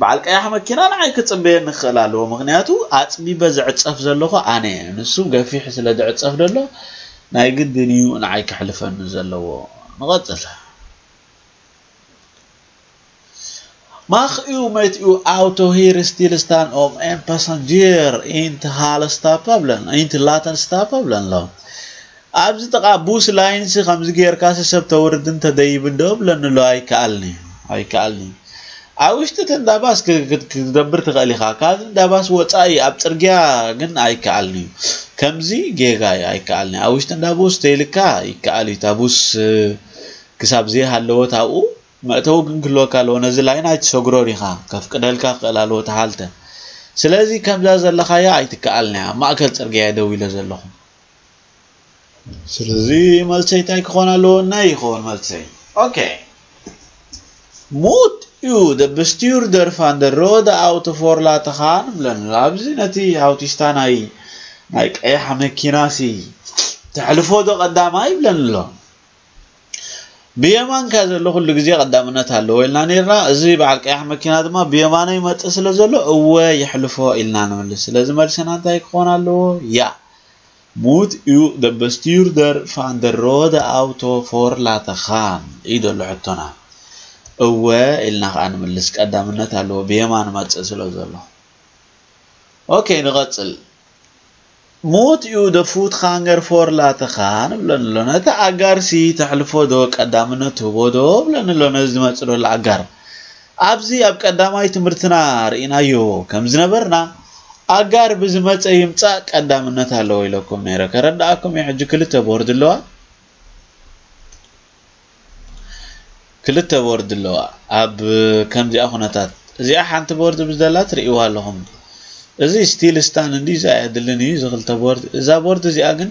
በዓል ቀያሕ መኪና ንዓይ ክጽበየኒ ክኽእል ኣለዎ። ምኽንያቱ ኣጽቢበ ዝዕጸፍ ዘለኹ ኣነ እየ። ንሱ ገፊሕ ስለ ዝዕጸፍ ዘሎ ናይ ግድን እዩ ንዓይ ክሕልፈኒ ዘለዎ። ንቐጽል። Mag u met uw auto hier stilstaan om een passagier in te halen stappen? Blun, in te laten stappen? Blun lo. ኣብዚ ጥቓ ቡስ ላይንስ ከምዚ ጌርካሲ ሰብ ተውርድን ተደይብን ዶ ብለኒ ኣሎ። ኣይከኣልኒ፣ ኣይከኣልኒ። ኣብ ውሽጢ እቲ እንዳ ባስ ክ- ክ- ክትደብር ትኽእል ኢኻ። ካብዚ እንዳ ባስ ወፃኢ ኣብ ፅርግያ ግን ኣይከኣልኒ እዩ። ከምዚ ጌጋ እዩ፣ ኣይከኣልኒ። ኣብ ውሽጢ እንዳ ቡስ ተይልካ ይከኣል እዩ። እታ ቡስ እ፣ ክሳብ ዘይሃለወት ኣብኡ መእተዊ ግን ክህልወካ ኣለዎ። ነዚ ላይን ኣይትሰግሮን ኢኻ፣ ከፍቅደልካ ክኽእል ኣለዎ ተሃልተ። ስለዚ ከምዛ ዘለኻያ ኣይትከኣልንያ። ኣብ ማእከል ፅርግያ እየ ደው ኢለ ዘለኹ። ስለዚ መልሰይ እንታይ ክኾን ኣለዎ? ናይ ይኸውን መልሰይ። ኦኬ። Moet u de bestuurder van de rode auto voor laten gaan? ብለኒ ኣሎ። ኣብዚ ነቲ ኣውቲስታ ናይ ናይ ቀያሕ መኪናሲ ተሕልፎ ዶ ቀዳማይ? ይብለኒ ኣሎ። ብየማንካ ዘሎ ኩሉ ግዜ ቀዳምነት ኣለዎ ኢልና ነርና። እዚ በዓል ቀያሕ መኪና ድማ ብየማነ ይመጽእ ስለ ዘሎ እወ የሕልፎ ኢልና ንምልስ። ስለዚ መልስና እንታይ ክኾን ኣለዎ? ያ። Moet u de bestuurder van de rode auto voor laten gaan? እዩ ዘሎ ሕቶና። እወ ኢልና ከዓ ንምልስ። ቀዳምነት ኣለዎ ብየማን መጽእ ስለ ዘሎ። ኦኬ፣ ንቐጽል። Moet u de voetganger voor laten gaan? ብለኒ ኣሎ። ነቲ ኣጋርሲ ተሕልፎ ዶ ቀዳምነት ትህቦ ዶ ብለኒ ኣሎ። ነዚ ዝመጽእ ዘሎ ኣጋር። ኣብዚ ኣብ ቀዳማይ ትምህርትና ርኢናዮ ከም ዝነበርና ኣጋር ብዝመጸ ይምጻእ ቀዳምነት ኣለዎ ኢለኩም ነይረ። ከረዳኣኩም እዩ። ሕጂ ክልተ ቦርድ ኣለዋ። ክልተ ቦርድ ኣለዋ። ኣብ ከምዚኣ ኩነታት እዚኣ ሓንቲ ቦርድ ብዝደላ ትርእይዋ ኣለኹም። እዚ ስቲል ስታንድ እንዲ እዛ እያ ድልን እዩ እዚ ክልተ ቦርድ። እዛ ቦርድ እዚኣ ግን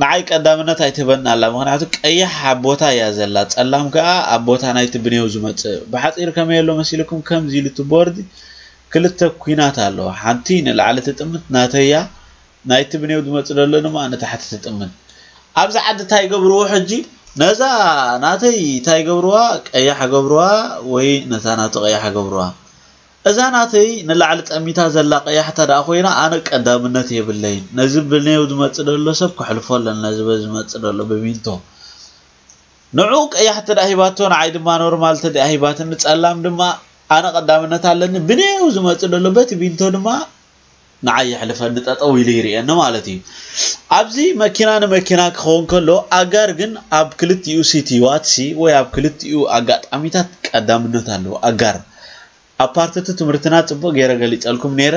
ንዓይ ቀዳምነት ኣይትህበና ኣላ። ምኽንያቱ ቀያሕ ኣብ ቦታ እያ ዘላ፣ ጸላም ከኣ ኣብ ቦታ ናይቲ ብኔው ዝመጽእ። ብሓጺር ከመይ ኣሎ መሲልኩም? ከምዚ ኢሉ እቲ ቦርድ ክልተ ኩናት ኣለዎ። ሓንቲ ንላዕሊ ትጥምት ናተያ፣ ናይቲ ብኔው ዝመጽእ ዘሎ ድማ ንታሕቲ ትጥምት። ኣብዚ ዓዲ እንታይ ይገብርዎ ሕጂ? ነዛ ናተይ እንታይ ይገብርዋ? ቀያሕ ገብርዋ ወይ ነታ ናቱ ቀያሕ ገብርዋ። እዛ ናተይ ንላዕሊ ጠሚታ ዘላ ቀያሕ እንተ ደኣ ኮይና፣ ኣነ ቀዳምነት የብለይን። ነዚ ብኔው ዝመጽእ ዘሎ ሰብ ክሕልፎ ኣለኒ፣ ነዚ በዚ ዝመጽእ ዘሎ ብቢንቶ። ንዑ ቀያሕ እንተ ደኣ ሂባቶ፣ ንዓይ ድማ ኖርማል እንተ ደኣ ሂባትኒ፣ ጸላም ድማ ኣነ ቀዳምነት ኣለኒ። ብኔው ዝመጽእ ዘሎ በቲ ቢንቶ ድማ ንዓይ የሕልፈኒ፣ ጠጠው ኢሉ ይርእየኒ ማለት እዩ። ኣብዚ መኪና ንመኪና ክኸውን ከሎ፣ ኣጋር ግን ኣብ ክልቲኡ ሲቲዋትሲ ወይ ኣብ ክልቲኡ ኣጋጣሚታት ቀዳምነት ኣለዎ። ኣጋር ኣብ ፓርትቲ ትምህርትና ጽቡቕ ገይረ ገሊጸልኩም ነይረ።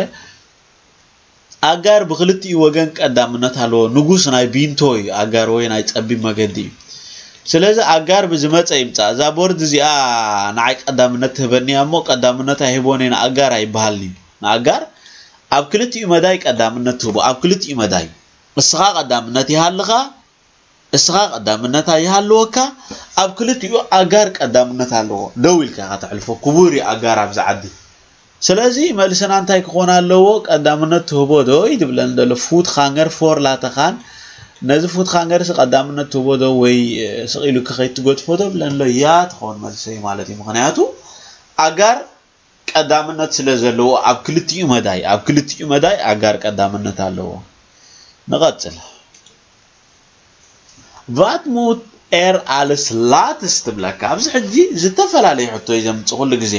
ኣጋር ብክልቲኡ ወገን ቀዳምነት ኣለዎ። ንጉስ ናይ ቢንቶ እዩ ኣጋር ወይ ናይ ጸቢብ መገዲ እዩ። ስለዚ ኣጋር ብዝመጸ ይምጻእ። እዛ ቦርድ እዚኣ ንዓይ ቀዳምነት ትህበኒ እያ እሞ ቀዳምነት ኣይህቦን እየ ንኣጋር ኣይበሃልን እዩ። ንኣጋር ኣብ ክልቲኡ መዳይ ቀዳምነት ትህቦ። ኣብ ክልቲኡ መዳይ እስኻ ቀዳምነት ይሃልኻ፣ እስኻ ቀዳምነት ኣይሃልወካ፣ ኣብ ክልቲኡ ኣጋር ቀዳምነት ኣለዎ። ደው ኢልካ ኢኻ ተሕልፎ። ክቡር እዩ ኣጋር ኣብዚ ዓዲ። ስለዚ መልስና እንታይ ክኾን ኣለዎ? ቀዳምነት ትህቦ ዶ እዩ ዝብለኒ ዘሎ። ፉት ሃንገር ፎር ላተኻን ነዚ ፉት ሃንገርስ ቀዳምነት ትህቦ ዶ ወይ ስቕ ኢሉ ክኸይድ ትገድፎ ዶ ብለኒ ኣሎ። ያ ትኸውን መልሰይ ማለት እዩ። ምኽንያቱ ኣጋር ቀዳምነት ስለ ዘለዎ ኣብ ክልቲኡ መዳይ፣ ኣብ ክልቲኡ መዳይ ኣጋር ቀዳምነት ኣለዎ። ንቐጽል። Wat moet er als laatst ትብለካ። ኣብዚ ሕጂ ዝተፈላለዩ ሕቶ እዩ ዘምጽእ ኩሉ ግዜ።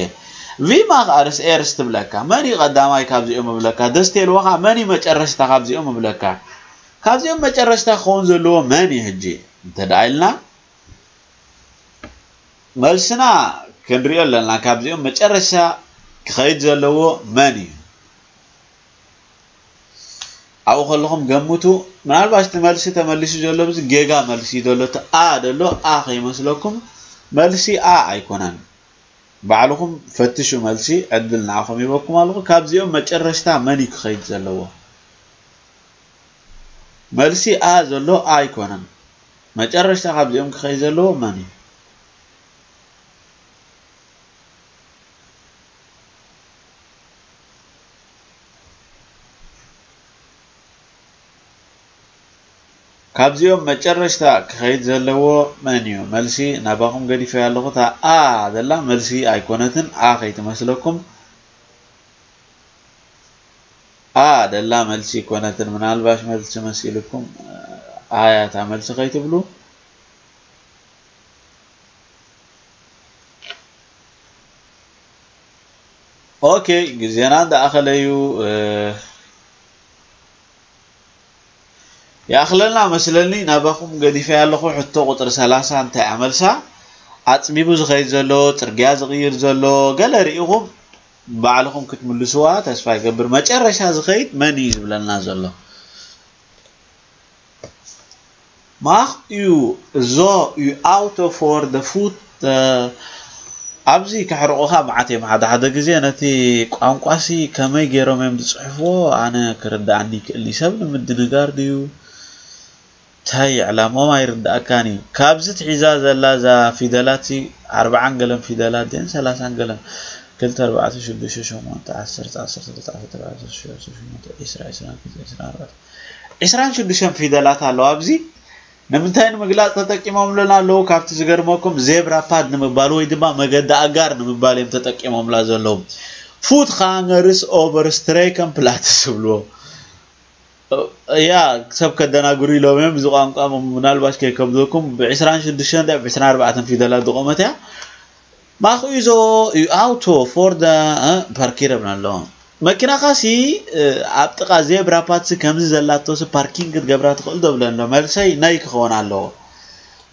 Wie mag als eerst ትብለካ። መን እዩ ቀዳማይ ካብዚኦም እብለካ። ደስ ተልወኻ መን እዩ መጨረሽታ ካብዚኦም እብለካ። ካብዚኦም መጨረሽታ ክኸውን ዘለዎ መን እዩ ሕጂ? እንተ ደኣ ኢልና መልስና ክንሪኦ ኣለና። ካብዚኦም መጨረሻ ክኸይድ ዘለዎ መን እዩ? ኣብኡ ከለኹም ገምቱ። ምናልባት እቲ መልሲ ተመሊሱ ዘሎ ብዚ ጌጋ መልሲ እዩ ዘሎ። እቲ A ዘሎ A ከይመስለኩም፣ መልሲ A ኣይኮነን። ባዕልኹም ፈትሹ መልሲ፣ ዕድል ንዓኹም ሂበኩም ኣለኹ። ካብዚኦም መጨረሽታ መን እዩ ክኸይድ ዘለዎ? መልሲ A ዘሎ A ኣይኮነን። መጨረሽታ ካብዚኦም ክኸይድ ዘለዎ መን እዩ? ካብዚኦም መጨረሽታ ክኸይድ ዘለዎ መን እዩ? መልሲ ናባኹም ገዲፈያ ኣለኹ። እታ A ዘላ መልሲ ኣይኮነትን። A ከይትመስለኩም። A ደላ መልሲ ኣይኮነትን። ምናልባሽ መልሲ መሲልኩም፣ A እያ እታ መልሲ ከይትብሉ። ኦኬ፣ ግዜና እንዳኣኸለ እዩ። ይኣኽለና መስለኒ። ናባኹም ገዲፈያ ኣለኹ። ሕቶ ቁፅሪ ሰላሳ እንታይ እያ መልሳ? ኣፅቢቡ ዝኸይድ ዘሎ፣ ፅርግያ ዝቕይር ዘሎ፣ ገለ ርኢኹም ባዕልኹም ክትምልስዋ ተስፋ ይገብር። መጨረሻ ዝኸይድ መን እዩ ዝብለና ዘሎ? Mag u zo uw auto voor de voet ኣብዚ ከሕርቑኻ መዓት እዮም። ሓደ ሓደ ግዜ ነቲ ቋንቋሲ ከመይ ገይሮም እዮም ዝፅሕፍዎ ኣነ ክርድኣኒ ይክእል እዩ። ሰብ ንምድንጋር ድዩ እንታይ ዕላምኦም ኣይርድኣካን እዩ። ካብዚ ትሒዛ ዘላ እዛ ፊደላት ኣርብዓን ገለን ፊደላት ድን ሰላሳን ገለን ክልተ ኣርባዕተ ሽዱሽተ ሸሞንተ ዓሰርተ ዓሰርተ ክልተ ዓሰርተ ኣርባዕተ ዓሰርተ ሸሞንተ ዒስራ ዒስራን ክልተ ዒስራን ኣርባዕተ ዒስራን ሽዱሽተን ፊደላት ኣለዋ ኣብዚ ንምንታይ ንምግላፅ ተጠቂሞምልና ኣለዉ? ካብቲ ዝገርመኩም ዜብራ ፓድ ንምባል ወይ ድማ መገዲ ኣጋር ንምባል እዮም ተጠቂሞምላ ዘለዉ። ፉት ካንገርስ ኦቨር ስትሬከን ፕላትስ ዝብልዎ ያ ሰብ ከደናግሩ ኢሎም እዮም። እዚ ቋንቋ ምናልባሽ ከይከብደኩም ብ ዕስራን ሽዱሽተን ብ ዕስራን ኣርባዕተን ፊደላት ዝቆመት እያ። ማክኡ ይዞ እዩ ኣውቶ ፎርደ ፓርኪር ብና ኣለዎ። መኪናኻ ሲ ኣብ ጥቓ ዜብራ ፓት ሲ ከምዚ ዘላቶ ሲ ፓርኪንግ ክትገብራ ትኽእል ዶ ብለን ኣሎ። መልሰይ ናይ ክኸውን ኣለዎ።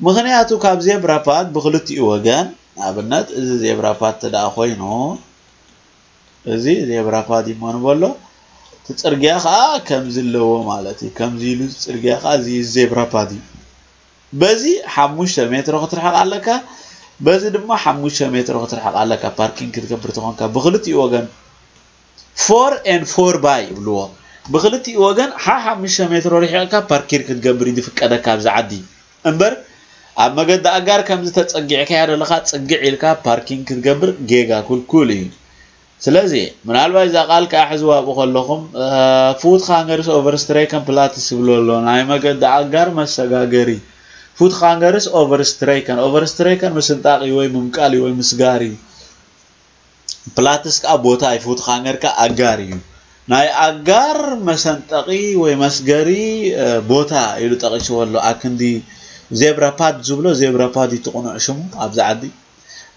ምኽንያቱ ካብ ዜብራ ፓት ብክልቲኡ ወገን ኣብነት እዚ ዜብራ ፓት ተደኣ ኮይኑ እዚ ዜብራ ፓት ይሞ ንበሎ እቲ ጽርግያ ከዓ ከምዚ ኣለዎ ማለት እዩ። ከምዚ ኢሉ ጽርግያ ከዓ እዚ ዜብራ ፓት እዩ። በዚ ሓሙሽተ ሜትሮ ክትርሕቕ ኣለካ፣ በዚ ድማ ሓሙሽተ ሜትሮ ክትርሕቕ ኣለካ። ፓርኪንግ ክትገብር ተኾንካ ብክልቲኡ ወገን ፎር ኤን ፎር ባይ ይብልዎ። ብክልቲኡ ወገን ሓ ሓሙሽተ ሜትሮ ርሒቕካ ፓርኪር ክትገብር እዩ ዝፍቀደካ ኣብዚ ዓዲ። እምበር ኣብ መገዲ ኣጋር ከምዚ ተጸጊዕካያ ዘለኻ ጽግዕ ኢልካ ፓርኪንግ ክትገብር ጌጋ ኩልኩል እዩ። ስለዚ ምናልባት እዛ ቃል ከዓ ሕዝዋ ኣብኡ ከለኹም ፉት ካንገርስ ኦቨርስትሬከን ፕላትስ ዝብሎ ኣሎ ናይ መገዲ ኣጋር መሰጋገሪ። ፉት ካንገርስ ኦቨርስትሬከን ኦቨርስትሬከን ምስንጣቂ ወይ ምምቃል ወይ ምስጋሪ። ፕላትስ ከዓ ቦታ እዩ። ፉት ካንገር ከዓ ኣጋር እዩ። ናይ ኣጋር መሰንጠቂ ወይ መስገሪ ቦታ ኢሉ ጠቂስዎ ኣሎ። ኣክንዲ ዜብራ ፓድ ዝብሎ ዜብራ ፓድ እዩ እቲ ቅኑዕ ሽሙ ኣብዚ ዓዲ።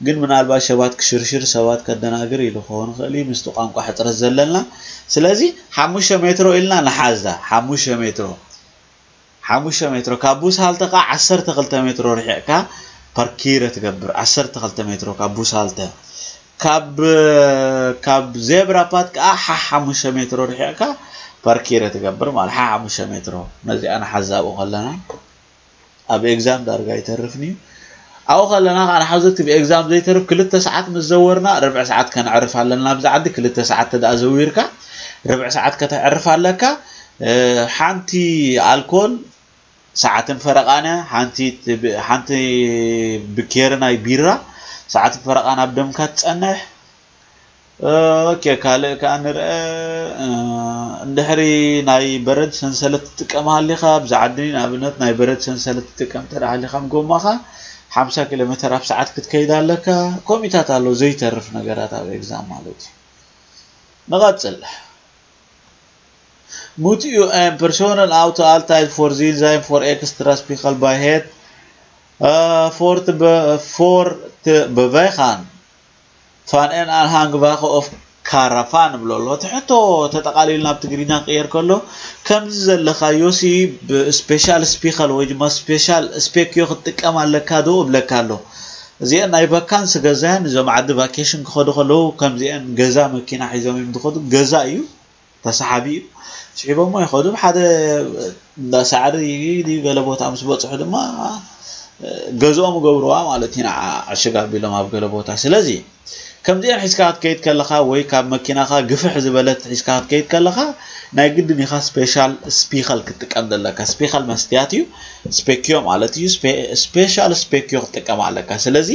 ግን ምናልባት ሰባት ክሽርሽር ሰባት ከደናግር ኢሉ ክኸውን ይኽእል እዩ ምስቲ ቋንቋ ሕፅረት ዘለና። ስለዚ ሓሙሽተ ሜትሮ ኢልና ንሓዛ። ሓሙሽተ ሜትሮ ሓሙሽተ ሜትሮ ካብ ቡሳልተ ከዓ ዓሰርተ ክልተ ሜትሮ ርሒቕካ ፓርኪረ ትገብር። ዓሰርተ ክልተ ሜትሮ ካብ ቡሳልተ ካብ ካብ ዜብራ ፓት ከዓ ሓሓሙሽተ ሜትሮ ርሒቕካ ፓርኪረ ትገብር ማለት ሓሓሙሽተ ሜትሮ። ነዚኣ ንሓዛብኡ ከለና ኣብ ኤግዛም ዳርጋ ይተርፍን እዩ። ኣብኡ ከለና ከዓ ንሓዘቲ ብኤግዛም ዘይተርፍ ክልተ ሰዓት ምስ ዘወርና ርብዒ ሰዓት ከነዕርፍ ኣለና። ኣብዚ ዓዲ ክልተ ሰዓት ተደኣ ዘዊርካ ርብዒ ሰዓት ከተዕርፍ ኣለካ። ሓንቲ ኣልኮል ሰዓትን ፈረቓን ሓንቲ ሓንቲ ብኬር ናይ ቢራ ሰዓትን ፈረቓን ኣብ ደምካ ትጸንሕ። ኦኬ ካልእ ከኣ ንርአ። እንድሕሪ ናይ በረድ ሰንሰለት ትጥቀም ሃሊኻ ኣብዚ ዓዲ ንኣብነት ናይ በረድ ሰንሰለት ትጥቀም እንተ ሃሊኻ ጎማኻ ሓምሳ ኪሎ ሜትር ኣብ ሰዓት ክትከይድ ኣለካ። ኮሚታት ኣሎ ዘይተርፍ ነገራት ኣብ ኤግዛም ማለት እዩ። ንቐጽል። Moet u een personen auto altijd voorzien zijn voor extra spiegel bij het uh, voor, te be, voor te bewegen van een aanhangwagen of caravan ብሎ ኣሎ። እቲ ሕቶ ተጠቓሊሉ ናብ ትግርኛ ክቕየር ከሎ ከምዚ ዘለኻዮ ሲ ብስፔሻል ስፒኸል ወይ ድማ ስፔሻል ስፔክዮ ክትጥቀም ኣለካ ዶ እብለካ ኣሎ። እዚአን ናይ ቫካንስ ገዛያን እዞም ዓዲ ቫኬሽን ክኸዱ ከለዉ ከምዚአን ገዛ መኪና ሒዞም እዮም ዝኸዱ። ገዛ እዩ ተሳሓቢ እዩ። ስሒቦሞ ይኸዱ ሓደ እንዳ ሳዕሪ ድዩ ገለ ቦታ ምስ በፅሑ ድማ ገዝኦም ገብርዋ ማለት ኢና። ዕሽግ ኣቢሎም ኣብ ገለ ቦታ ስለዚ ከምዚአን ሒዝካ ክትከይድ ከለኻ ወይ ካብ መኪናኻ ግፍሕ ዝበለት ሒዝካ ክትከይድ ከለኻ ናይ ግድን ኢኻ ስፔሻል ስፒኸል ክትጥቀም ዘለካ። ስፒኸል መስትያት እዩ። ስፔክዮ ማለት እዩ። ስፔሻል ስፔክዮ ክትጥቀም ኣለካ። ስለዚ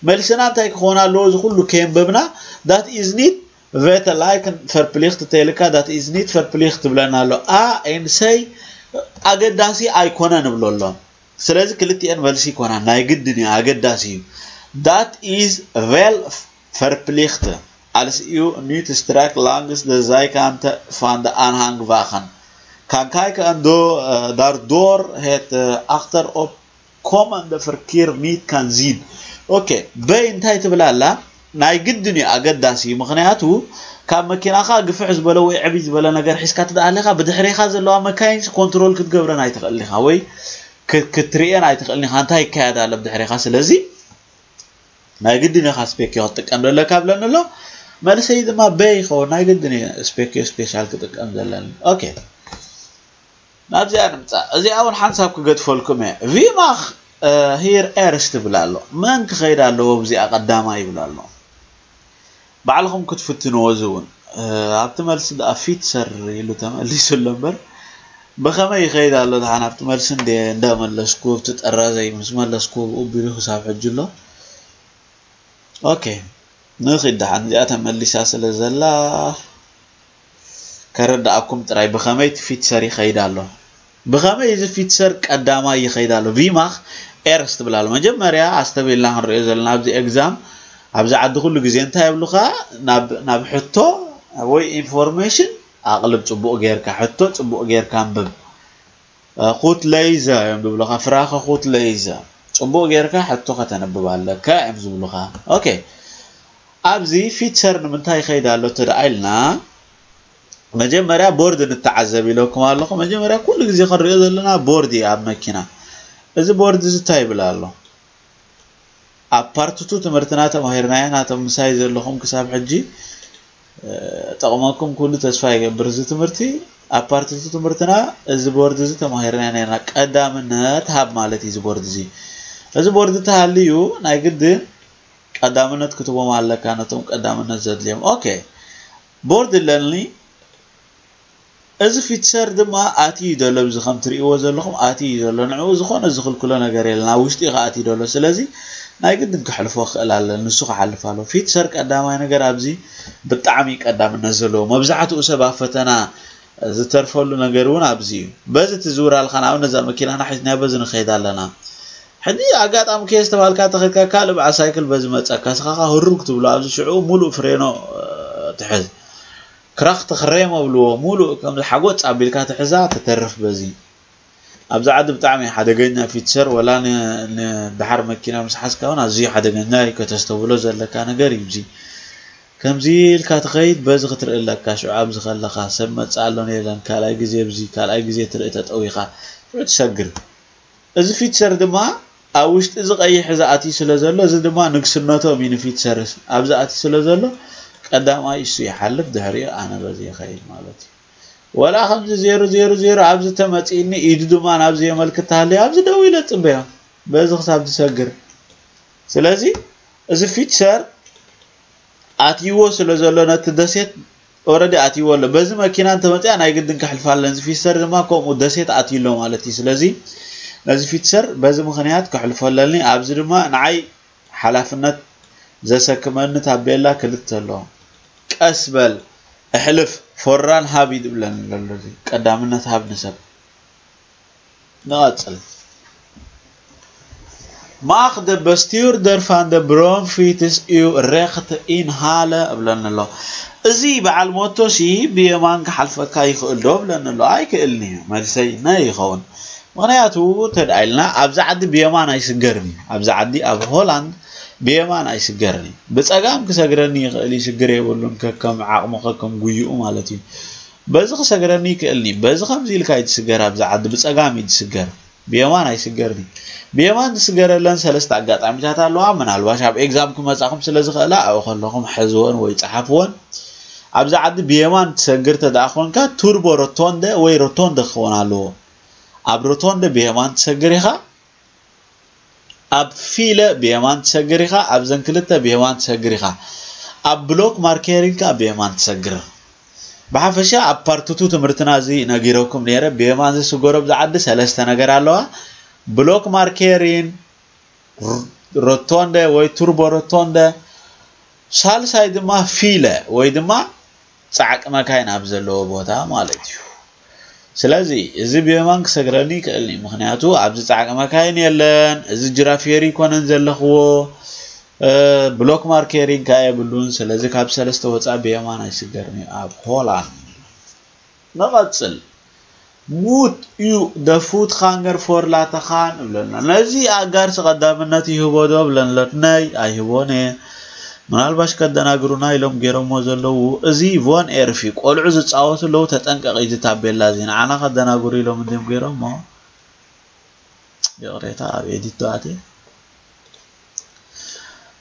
መልስና እንታይ ክኾን ኣለዎ? እዚ ኩሉ ከየንበብና that is need vet lijken verplicht ተይልካ that is need verplicht ትብለና ኣሎ። A en C ኣገዳሲ ኣይኮነን እብሎ ኣሎ። ስለዚ ክልቲኤን መልሲ ይኮና፣ ናይ ግድን እዩ፣ ኣገዳሲ እዩ። Dat is wel verplicht als u niet strak langs de zijkanten van de aanhangwagen kan kijken en door, eh, daardoor het eh, achterop komende verkeer niet kan zien. ኦኬ፣ በይ እንታይ ትብል ኣላ? ናይ ግድን እዩ፣ ኣገዳሲ እዩ። ምክንያቱ ካብ መኪናኻ ግፍሕ ዝበለ ወይ ዕብይ ዝበለ ነገር ሒዝካ ትደኣ ኣለኻ፣ ብድሕሬኻ ዘለዋ መካይን ኮንትሮል ክትገብረን ኣይትኽእልን ኢኻ ወይ ክ- ክትርእየን ኣይትኽእልን ኢኻ፣ እንታይ ይካየድ ኣሎ ብድሕሬኻ። ስለዚ ናይ ግድን ኢኻ ስፔኪዮ ክትጥቀም ዘለካ ብለኒ ኣሎ። መልሰይ ድማ በይ ይኸውን፣ ናይ ግድን እዩ ስፔኪዮ ስፔሻል ክጥቀም ዘለኒ። ኦኬ፣ ናብዚኣ ንምፃእ። እዚኣ እውን ሓንሳብ ክገድፈልኩም እየ። ቪማኽ ሂር ኤርስ ትብል ኣሎ። መን ክኸይድ ኣለዎ ብዚኣ ቀዳማይ ይብል ኣሎ። ባዕልኹም ክትፍትንዎ እዚ እውን ኣብቲ መልሲ ደኣ ፊትሰር ኢሉ ተመሊሱ ኣሎ እምበር፣ ብኸመይ ይኸይድ ኣሎ ደሓን ኣብቲ መልሲ እንደ እንዳመለስኩ ኣብቲ ጠራዘይ ምስ መለስኩ ብኡ ቢሉ ክሳብ ሕጂ ኣሎ። ኦኬ፣ ንኺድ ደሓን እዚኣ ተመሊሳ ስለ ዘላ ከረዳኣኩም ጥራይ ብኸመይ እቲ ፊትሰር ይኸይድ ኣሎ። ብኸመይ እዚ ፊትሰር ቀዳማይ ይኸይድ ኣሎ። ቪማኽ ኤርስ ትብል ኣሎ። መጀመርያ ኣስተብሂልና ክንሪኦ ዘለና ኣብዚ ኤግዛም ኣብዚ ዓዲ ኩሉ ግዜ እንታይ የብሉኻ ናብ ናብ ሕቶ ወይ ኢንፎርሜሽን ኣቕልብ ጽቡቕ ጌርካ ሕቶ ጽቡቕ ጌርካ ኣንብብ። ኩት ለይዘ እዮም ዝብሉኻ ፍራኸ ኩት ለይዘ ጽቡቕ ጌርካ ሕቶ ከተንብብ ኣለካ እዮም ዝብሉኻ። ኦኬ ኣብዚ ፊትሰር ንምንታይ ይኸይድ ኣሎ ተደኣ ኢልና መጀመርያ ቦርድ ንተዓዘብ ኢለኩም ኣለኹ። መጀመርያ ኩሉ ግዜ ክንሪኦ ዘለና ቦርድ እዩ ኣብ መኪና። እዚ ቦርድ እዚ እንታይ ይብል ኣሎ? ኣብ ፓርትቱ ትምህርትና ተማሂርናዮ ናቶም ምሳይ ዘለኹም ክሳብ ሕጂ ጠቕመኩም ኩሉ ተስፋ ይገብር። እዚ ትምህርቲ ኣብ ፓርትቱ ትምህርትና እዚ ቦርድ እዚ ተማሂርና ነርና። ቀዳምነት ሃብ ማለት እዩ እዚ ቦርድ እዚ። እዚ ቦርድ ተሃልዩ ናይ ግድን ቀዳምነት ክትቦም ኣለካ ነቶም ቀዳምነት ዘድልዮም። ኦኬ ቦርድ ኣለኒ። እዚ ፊትሰር ድማ ኣትዩ ዘሎ ኣብዚ ከም ትርእይዎ ዘለኹም ኣትዩ ዘሎ ንዕኡ ዝኾነ ዝኽልክሎ ነገር የለን ኣብ ውሽጢ ከኣትዩ ዘሎ ስለዚ ናይ ግድን ክሕልፎ ክእል ኣለ ንሱ ክሓልፍ ኣሎ ፊትሰር ቀዳማይ ነገር ኣብዚ ብጣዕሚ ቀዳምነት ዘለዎ መብዛሕትኡ ሰብ ኣብ ፈተና ዝተርፈሉ ነገር እውን ኣብዚ እዩ በዚ ትዝውር ኣልካ ንኣብነት እዛ መኪናና ሒዝናያ በዚ ንኸይድ ኣለና ሕጂ ኣጋጣሚ ከየ ዝተባልካ ተኸድካ ካልእ በዓል ሳይክል በዚ መፀካ ስኻኻ ህሩግ ትብሎ ኣብዚ ሽዑ ሙሉእ ፍሬኖ ትሕዝ ክራኽ ተኽሬም ኣብልዎ ሙሉእ ከምዚ ሓጎጽ ኣቢልካ ትሕዛ ትተርፍ በዚ ኣብዚ ዓዲ ብጣዕሚ ሓደገኛ ፊትሰር ወላ ንድሓር መኪና ምስ ሓዝካ እውን ኣዝዩ ሓደገኛ እዩ ከተስተብሎ ዘለካ ነገር እዩ እዚ ከምዚ ኢልካ ትኸይድ በዚ ክትርኢ ኣለካ ሽዑ ኣብዚ ከለኻ ሰብ መጽእ ኣሎን የለን ካልኣይ ግዜ ብዚ ካልኣይ ግዜ ትርኢ ተጠዊኻ ሽዑ ትሰግር እዚ ፊትሰር ድማ ኣብ ውሽጢ እዚ ቀይሕ እዚ ኣትዩ ስለ ዘሎ እዚ ድማ ንግስነቶም እዩ ንፊትሰር ኣብዚ ኣትዩ ስለ ዘሎ ቀዳማይ እሱ ይሓልፍ ድሕሪኡ ኣነ በዚ ይኸይድ ማለት እዩ ወላ ከምዚ ዜሮ ዜሮ ዜሮ ኣብዚ ተመፂእኒ ኢዱ ድማ ናብዚ የመልክት ተሃለየ ኣብዚ ደው ኢለ ፅበዮ በዚ ክሳብ ዝሰግር ስለዚ እዚ ፊትሰር ኣትይዎ ስለ ዘሎ ነቲ ደሴት ኦረዲ ኣትይዎ ኣሎ በዚ መኪና እንተመፅያ ናይ ግድን ከሕልፋ ኣለንዚ ፊትሰር ድማ ከምኡ ደሴት ኣትዩ ኣሎ ማለት እዩ ስለዚ ነዚ ፊትሰር በዚ ምክንያት ከሕልፎ ኣለኒ ኣብዚ ድማ ንዓይ ሓላፍነት ዘሰክመኒ ታቤላ ክልተ ኣሎ ቀስ በል እሕልፍ ፎራን ሃብ ይድብለኒ ዘሎ ቀዳምነት ሃብ ንሰብ ንቐጽል Mag de bestuurder van de bromfiets uw rechter inhalen እብለኒ ኣሎ እዚ በዓል ሞቶ ሲ ብየማን ክሓልፈካ ይኽእል ዶ እብለኒ ኣሎ ኣይክእልን እዩ መልሰይ ናይ ይኸውን ምኽንያቱ ተድኣ ኢልና ኣብዚ ዓዲ ብየማን ኣይስገርን እዩ ኣብዚ ዓዲ ኣብ ሆላንድ ብየማን ኣይስገርን እዩ ብፀጋም ክሰግረኒ ይኽእል እዩ ሽግር የብሉን ከከም ዓቕሙ ከከም ጉይኡ ማለት እዩ በዚ ክሰግረኒ ይክእልኒ በዚ ከምዚ ኢልካ እዩ ትስገር ኣብዚ ዓዲ ብፀጋም እዩ ትስገር ብየማን ኣይስገርን እዩ ብየማን ዝስገረለን ሰለስተ ኣጋጣሚታት ኣለዋ ምናልባሽ ኣብ ኤግዛም ክመፃኹም ስለ ዝኽእላ ኣብኡ ከለኹም ሕዝወን ወይ ፀሓፍወን ኣብዚ ዓዲ ብየማን ትሰግር ተደኣ ኮንካ ቱርቦ ሮቶንደ ወይ ሮቶንደ ክኸውን ኣለዎ ኣብ ሮቶንደ ብየማን ትሰግር ኢኻ ኣብ ፊለ ብየማን ትሰግር ኢኻ ኣብዘን ክልተ ብየማን ትሰግር ኢኻ ኣብ ብሎክ ማርኬሪንካ ብየማን ትሰግር ብሓፈሻ ኣብ ፓርትቱ ትምህርትና እዚ ነጊረኩም ነይረ ብየማን ዝስገሮ ብዝዓዲ ሰለስተ ነገር ኣለዋ ብሎክ ማርኬሪን ሮቶንደ ወይ ቱርቦ ሮቶንደ ሳልሳይ ድማ ፊለ ወይ ድማ ጻዕቂ መካይን ኣብ ዘለዎ ቦታ ማለት እዩ። ስለዚ እዚ ብየማን ክሰግረኒ ይክእል እዩ፣ ምክንያቱ ኣብዚ ፃዕቂ መካይን የለን። እዚ ጅራፍ ፌሪ ይኮነን ዘለኽዎ፣ ብሎክ ማርኬሪንግ ከኣ የብሉን። ስለዚ ካብ ሰለስተ ወፃእ ብየማን ኣይስገርን እዩ ኣብ ሆላንድ። ንቐፅል። Moet u de voetganger voor laten gaan እብለና። ነዚ ኣጋርሲ ቀዳምነት ይህቦ ዶ እብለን ኣለኩ። ናይ ኣይህቦን እየ። ምናልባሽ ከደናግሩና ኢሎም ገይሮሞ ዘለዉ። እዚ ቮን ኤርፍ እዩ። ቆልዑ ዝፃወቱ ኣለዉ፣ ተጠንቀቕ። እዚ ታቤላ እዚ ንዓና ከደናግሩ ኢሎም እንድዮም ገይሮሞ። ይቕሬታ፣ ኣብ ኤዲት ዶ ኣትየ?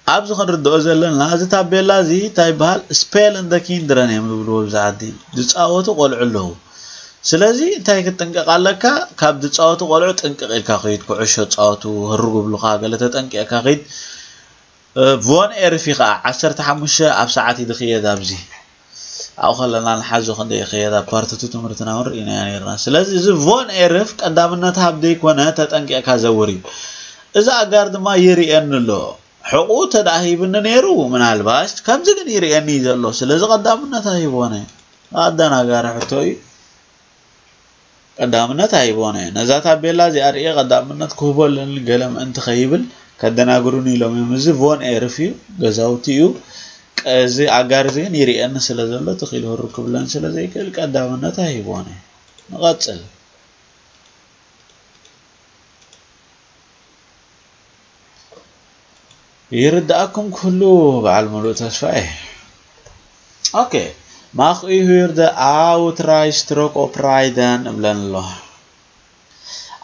ኣብዚ ክንርድኦ ዘለና፣ እዚ ታቤላ እዚ እንታይ ይበሃል? ስፔል እንደ ኪንድረን እዮም ዝብልዎ ኣብዚ ዓዲ። ዝፃወቱ ቆልዑ ኣለዉ። ስለዚ እንታይ ክትጥንቀቕ ኣለካ? ካብ ዝፃወቱ ቆልዑ ጥንቅቕ ኢልካ ኸይድ። ኩዕሾ ፃወቱ፣ ህርጉ ብሉኻ፣ ገለ ተጠንቂቕካ ኸይድ። እ፣ ቮን ኤርፊ ኸዓ ዓሰርተ ሓሙሽተ ኣብ ሰዓት እዩ ዝኽየድ ኣብዚ። ኣብኡ ከለና ንሓዞ ክንደይ ይኽየድ፣ ኣብ ፓርት ቱ ትምህርትና እውን ርኢናዮ ነይርና። ስለዚ እዚ ቮን ኤርፍ ቀዳምነት ሃብ ዘይኮነ ተጠንቂቕካ ዘውር እዩ። እዚ ኣጋር ድማ ይርእየኒ ኣሎ። ሕቑኡ ተደኣ ሂብኒ ነይሩ፣ ምናልባሽ ከምዚ ግን ይርእየኒ እዩ ዘሎ። ስለዚ ቀዳምነት ኣይቦነ። ኣደናጋሪ ሕቶ እዩ። ቀዳምነት ኣይቦነ። ነዛ ታቤላ እዚኣ ርእየ ቀዳምነት ክህቦ ኣለኒ ገለ ምእንቲ ከይብል ከደናግሩኒ ኢሎም እዮም። እዚ ቮን ኤርፍ እዩ፣ ገዛውቲ እዩ። ቀ-፣ እዚ ኣጋር እዚ ግን ይርእየኒ ስለ ዘሎ ትኽ ኢሉ ህርክ ክብለኒ ስለ ዘይክእል ቀዳምነት ኣይቦነ። ንቐጽል። ይርድኣኩም ክህሉ በዓል ሙሉእ ተስፋ እየ። ኦኬ፣ ማኽ ዩ ሂር ደ ኣውትራይ ስትሮክ ኦፕራይደን እብለን ኣሎ።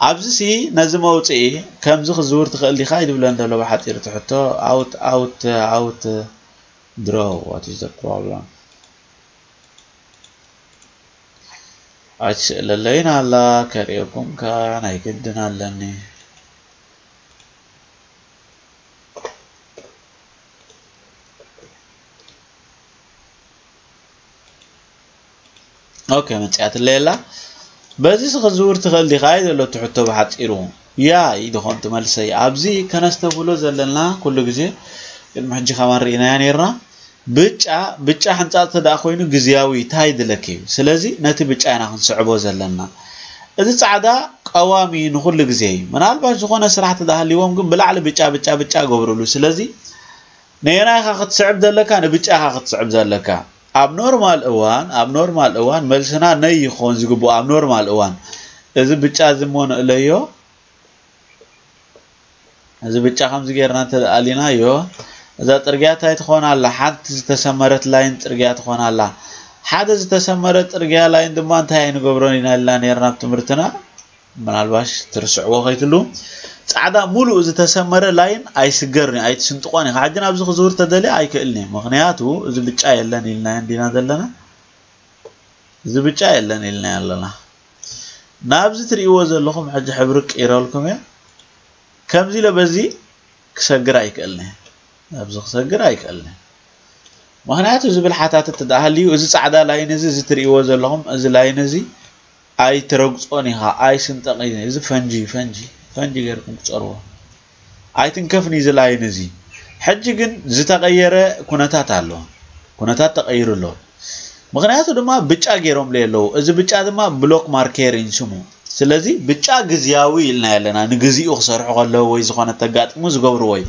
ኣብዚ ሲ ነዚ መውፅኢ ከምዚ ክዝውር ትኽእል ዲኻ ይድብለን ዘሎ ብሓፂር ትሕቶ። ኣውት ኣውት ኣውት ድሮ፣ what is the problem? ኣይትስእለለይን ኣላ፣ ከርእየኩም ከኣ ናይ ግድን ኣለኒ። ኦኬ፣ መጽያትለይ ኣላ። በዚ ሲ ክዝውር ትኽእል ዲኻ እዩ ዘሎ እቲ ሕቶ ብሓጺሩ። ያ እዩ ዝኾን እቲ መልሰይ። ኣብዚ ከነስተብህሎ ዘለና ኩሉ ግዜ፣ ቅድሚ ሕጂ ከማን ርኢናያ ነይርና። ብጫ፣ ብጫ ሕንጻጽ ተደኣ ኮይኑ ግዝያዊ እንታይ ድለኪ እዩ። ስለዚ ነቲ ብጫ ኢና ክንስዕቦ ዘለና። እዚ ጻዕዳ ቀዋሚ ንኹሉ ግዜ እዩ። ምናልባት ዝኾነ ስራሕ ተደኣ ሃልይዎም ግን ብላዕሊ ብጫ፣ ብጫ፣ ብጫ ገብርሉ። ስለዚ ነየናይ ኢኻ ክትስዕብ ዘለካ? ንብጫ ኢኻ ክትስዕብ ዘለካ። ኣብ ኖርማል እዋን፣ ኣብ ኖርማል እዋን መልስና ነይ ይኾን ዝግብኦ ኣብ ኖርማል እዋን። እዚ ብጫ እዚ እሞ ንእለዮ። እዚ ብጫ ከምዚ ጌርና እንተ ኣሊናዮ፣ እዛ ጽርግያ እንታይ ትኾን ኣላ? ሓንቲ ዝተሰመረት ላይን ጽርግያ ትኾን ኣላ። ሓደ ዝተሰመረ ጽርግያ ላይን ድማ እንታይ ኣይንገብሮን ኢና ኢልና ኔርና ኣብ ትምህርትና። ምናልባሽ ትርስዕዎ ከይትሉ። ጻዕዳ ሙሉእ ዝተሰመረ ላይን ኣይስገርን እዩ፣ ኣይትስንጥቆን ኢኻ። ሕጂ ናብዚ ክዝውር ተደልየ ኣይክእልን እዩ። ምኽንያቱ እዚ ብጫ የለን ኢልናዮ እንዲና ዘለና። እዚ ብጫ የለን ኢልናዮ ኣለና። ናብዚ ትርእይዎ ዘለኹም ሕጂ ሕብሪ ቅይረልኩም እየ። ከምዚ ኢለ በዚ ክሰግር ኣይክእልን እየ። ናብዚ ክሰግር ኣይክእልን እየ። ምኽንያቱ ዝብል ሓታትት ደኣ ሃልዩ፣ እዚ ጻዕዳ ላይን እዚ፣ እዚ ትርእይዎ ዘለኹም፣ እዚ ላይን እዚ ኣይትረግጾን ኢኻ፣ ኣይስንጠቕን። እዚ ፈንጂ፣ ፈንጂ፣ ፈንጂ ጌርኩም ቅጸርዎ። ኣይትንከፍን እዚ ላይን እዚ። ሕጂ ግን ዝተቐየረ ኩነታት ኣሎ። ኩነታት ተቐይሩ ኣሎ። ምኽንያቱ ድማ ብጫ ጌሮምለይ ኣለዉ። እዚ ብጫ ድማ ብሎክ ማርኬር እዩ ስሙ። ስለዚ ብጫ ግዝያዊ ኢልና ኣለና። ንግዚኡ ክሰርሑ ከለዉ ወይ ዝኾነ ተጋጥሙ ዝገብርዎ እዩ።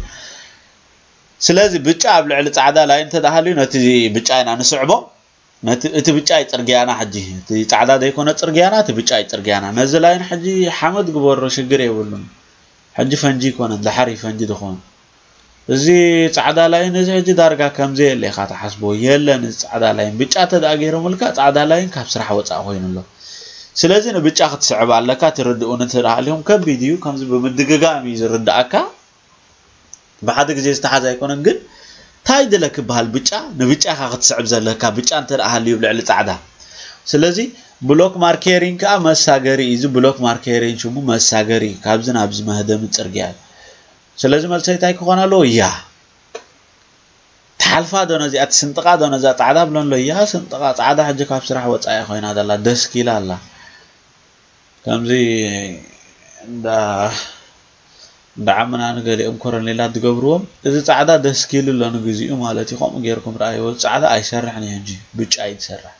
ስለዚ ብጫ ኣብ ልዕሊ ጻዕዳ ላይን እንተ ደኣ ሃልዩ ነቲ ብጫ ኢና ንስዕቦ። ነቲ፣ እቲ ብጫ እዩ ጽርግያና ሕጂ። እቲ ጻዕዳ ዘይኮነ ጽርግያና፣ እቲ ብጫ እዩ ጽርግያና። ነዚ ላይን ሕጂ ሓመድ ግበሮ፣ ሽግር የብሉን። ሕጂ ፈንጂ ኣይኮነን፣ ድሓር እዩ ፈንጂ ዝኸውን። እዚ ጻዕዳ ላይን እዚ ሕጂ ዳርጋ ከም ዘየለ ኢኻ ትሓስቦ። የለን እዚ ጻዕዳ ላይን። ብጫ እንተ ደኣ ገይሮምልካ፣ ጻዕዳ ላይን ካብ ስራሕ ወጻኢ ኮይኑ ኣሎ። ስለዚ ንብጫ ክትስዕብ ኣለካ፣ ትርድኡኒ እንተ ደኣ ሃሊኹም። ከቢድ እዩ፣ ከምዚ ብምድግጋም እዩ ዝርድኣካ። ብሓደ ግዜ ዝተሓዘ ኣይኮነን፣ ግን እንታይ ድለ ክበሃል ብጫ ንብጫ ኢኻ ክትስዕብ ዘለካ፣ ብጫ እንተ ደኣ ሃልዩ ኣብ ልዕሊ ጻዕዳ። ስለዚ ብሎክ ማርኬሪንግ ከኣ መሳገሪ እዩ። እዚ ብሎክ ማርኬሪንግ ሽሙ መሳገሪ እዩ፣ ካብዚ ናብዚ መህደሚ ጽርግያ እዩ። ስለዚ መልሰይ እንታይ ክኾን ኣለዎ? ያ። ትሓልፋ ዶ ነዚኣ፣ ትስንጥቓ ዶ ነዛ ጻዕዳ ብሎ ኣሎ። ያ፣ ስንጥቓ፣ ጻዕዳ ሕጂ ካብ ስራሕ ወጻኢ ኮይና ዘላ፣ ደስኪላ ኣላ። ከምዚ እንዳ፣ እንዳ ዓምና ንገሊኦም ኮረኔላት ዝገብርዎም፣ እዚ ጻዕዳ ደስኪሉ ኣሎ ንግዚኡ ማለት እዩ። ከምኡ ጌርኩም ረኣይዎ። ጻዕዳ ኣይሰርሕን እዩ ሕጂ፣ ብጫ እዩ ዝሰርሕ።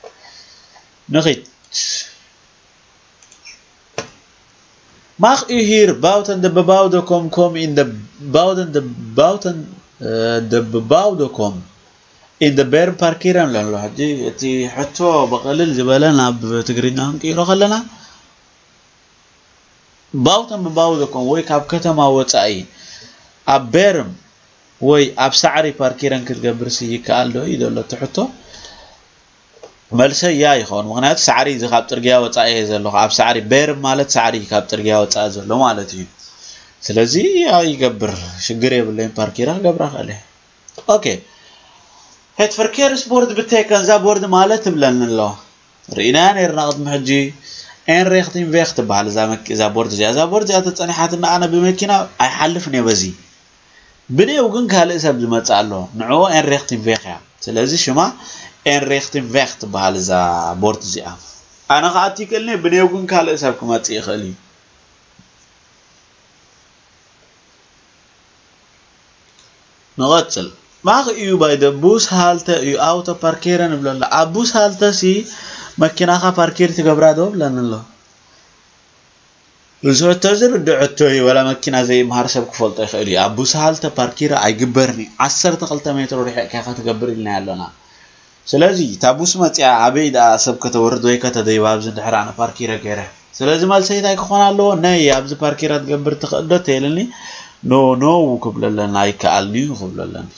ንኺድ። Mag u hier buiten de bebouwde kom kom in de buiten de buiten eh, de bebouwde kom in de berm parkeren ኣሎ። ሕጂ እቲ ሕቶ ብቕልል ዝበለ ናብ ትግርኛ ክንቅይሮ ከለና፣ buiten bebouwde kom ወይ ካብ ከተማ ወፃኢ ኣብ በርም ወይ ኣብ ሳዕሪ ፓርኪረን ክትገብር ሲ ይከኣል ዶ እዩ ዘሎ እቲ ሕቶ። መልሰ ያ ይኸውን። ምክንያቱ ሳዕሪ እዚ ካብ ፅርግያ ወፃኢ እየ ዘለኹ። ኣብ ሳዕሪ፣ በርም ማለት ሳዕሪ ካብ ፅርግያ ወፃኢ ዘሎ ማለት እዩ። ስለዚ ያ ይገብር፣ ሽግር የብለይን። ፓርኪረ ክገብራ ክእል እየ። ኦኬ፣ het verkeersbord betekent፣ እዛ ቦርድ ማለት ትብለኒ ኣሎ። ርኢናያ ነርና ቅድሚ ሕጂ። En richting weg ትበሃል እዛ መኪ-፣ እዛ ቦርድ እዚኣ። እዛ ቦርድ እዚኣ ተፀኒሓትና ኣነ ብመኪና ኣይሓልፍን እየ በዚ። ብኔው ግን ካልእ ሰብ ዝመፅእ ኣሎ። ንዕኡ en richting weg እያ። ስለዚ ሽማ en richting weg ትበሃል እዛ ቦርድ እዚኣ። ኣነ ከዓ እቲ ይክእልኒ፣ ብኔው ግን ካልእ ሰብ ክመፅእ ይኽእል እዩ። ንቐጽል። Mag u bij de bushalte uw auto parkeren ንብሎ ኣሎ። ኣብ ቡስሃልተ ሲ መኪናኻ ፓርኪር ትገብራ ዶ ብለኒ ኣሎ። እዚ ሕቶ እዚ ርዱእ ሕቶ እዩ። ወላ መኪና ዘይምሃር ሰብ ክፈልጦ ይኽእል እዩ። ኣብ ቡስሃልተ ፓርኪር ኣይግበርን እዩ። ዓሰርተ ክልተ ሜትሮ ርሒቕካ ኢኻ ትገብር ኢልና ኣለና። ስለዚ እታ ቡስ መፂኣ ኣበይ ደኣ ሰብ ከተወርድ ወይ ከተደይባ ኣብዚ እንድሕር ኣነ ፓርኪረ ገይረ። ስለዚ መልሰይ እንታይ ክኾን ኣለዎ? ነይ ኣብዚ ፓርኪረ ትገብር ትኽእል ዶ ተይልኒ? ኖ ኖ ክብለለና ኣይከኣልን'ዩ ክብለለኒ።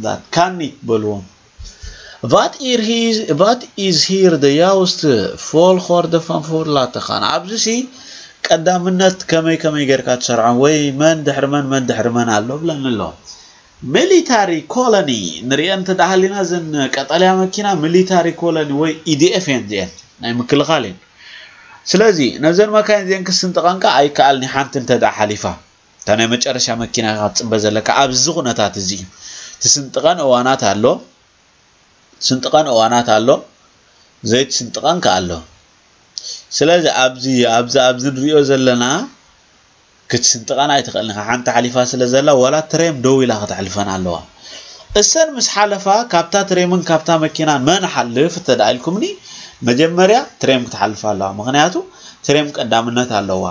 That can it በልዎም። Wat is hier, wat is hier de juiste volgorde van voor laten gaan? ኣብዚ ሲ ቀዳምነት ከመይ ከመይ ጌርካ ትሰርዖም ወይ መን ድሕሪ መን መን ድሕሪ መን ኣሎ ብለኒ ኣሎ። ሚሊታሪ ኮሎኒ ንሪኦ እንተ ደኣ ሃሊና እዘን ቀጠልያ መኪና ሚሊታሪ ኮሎኒ ወይ ኢዲኤፍ እየን እዚአን ናይ ምክልኻል እየን። ስለዚ ነዘን መካይን እዚአን ክስንጥቐን ከኣ ኣይከኣልን እዩ ሓንቲ እንተ ደኣ ሓሊፋ። እታ ናይ መጨረሻ መኪና ኢኻ ትጽበ ዘለካ ኣብዚ ኩነታት እዚ እዩ። ትስንጥቀን እዋናት ኣሎ፣ ትስንጥቀን እዋናት ኣሎ፣ ዘይትስንጥቀን ከኣ ኣሎ። ስለዚ ኣብዚ ኣብዚ ኣብዚ ንሪኦ ዘለና ክትስንጥቀን ኣይትኽእልን ኢኻ። ሓንቲ ሓሊፋ ስለ ዘላ ዋላ ትሬም ደው ኢላ ከተሕልፈን ኣለዋ። እሰን ምስ ሓለፋ ካብታ ትሬምን ካብታ መኪናን መን ሓልፍ እንተ ደኣ ኢልኩምኒ መጀመርያ ትሬም ክትሓልፍ ኣለዋ። ምኽንያቱ ትሬም ቀዳምነት ኣለዋ።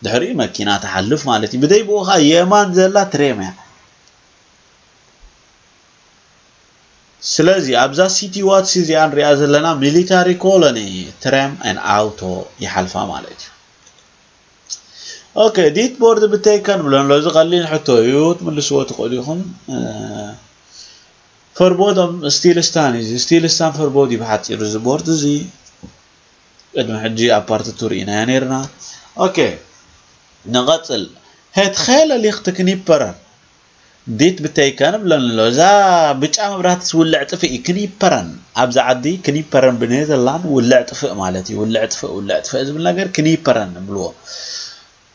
ድሕሪኡ መኪና ትሓልፍ ማለት እዩ። ብደይ ብኡ ኸዓ የማን ዘላ ትሬም እያ። ስለዚ ኣብዛ ሲቲ ዋትስ እዚኣ ንሪኣ ዘለና ሚሊታሪ ኮሎኒ ትሬም ን ኣውቶ ይሓልፋ ማለት እዩ። ኦኬ፣ ዲት ቦርድ ብተይከን ብሎ ኣሎ። እዚ ቀሊል ሕቶ እዩ፣ ትምልስዎ ትኽእሉ ኢኹም። እ፣ ፈርቦዶም ስቲልስታን እዩ። ስቲልስታን ፈርቦድ እዩ ብሓፂሩ እዚ ቦርድ እዚ። ቅድሚ ሕጂ ኣብ ፓርት ቱ ርኢናዮ ነይርና። ኦኬ፣ ንቐፅል። Het gele licht knipper. ዲት ብተይከን ብለኒ ኣሎ። እዛ ብጫ መብራህቲ ዝውልዕ ጥፍእ እዩ። ክኒፐረን። ኣብዚ ዓዲ ክኒፐረን ብኔዘርላንድ ውልዕ ጥፍእ ማለት እዩ። ውልዕ ጥፍእ፣ ውልዕ ጥፍእ ዝብል ነገር ክኒፐረን ንብልዎ።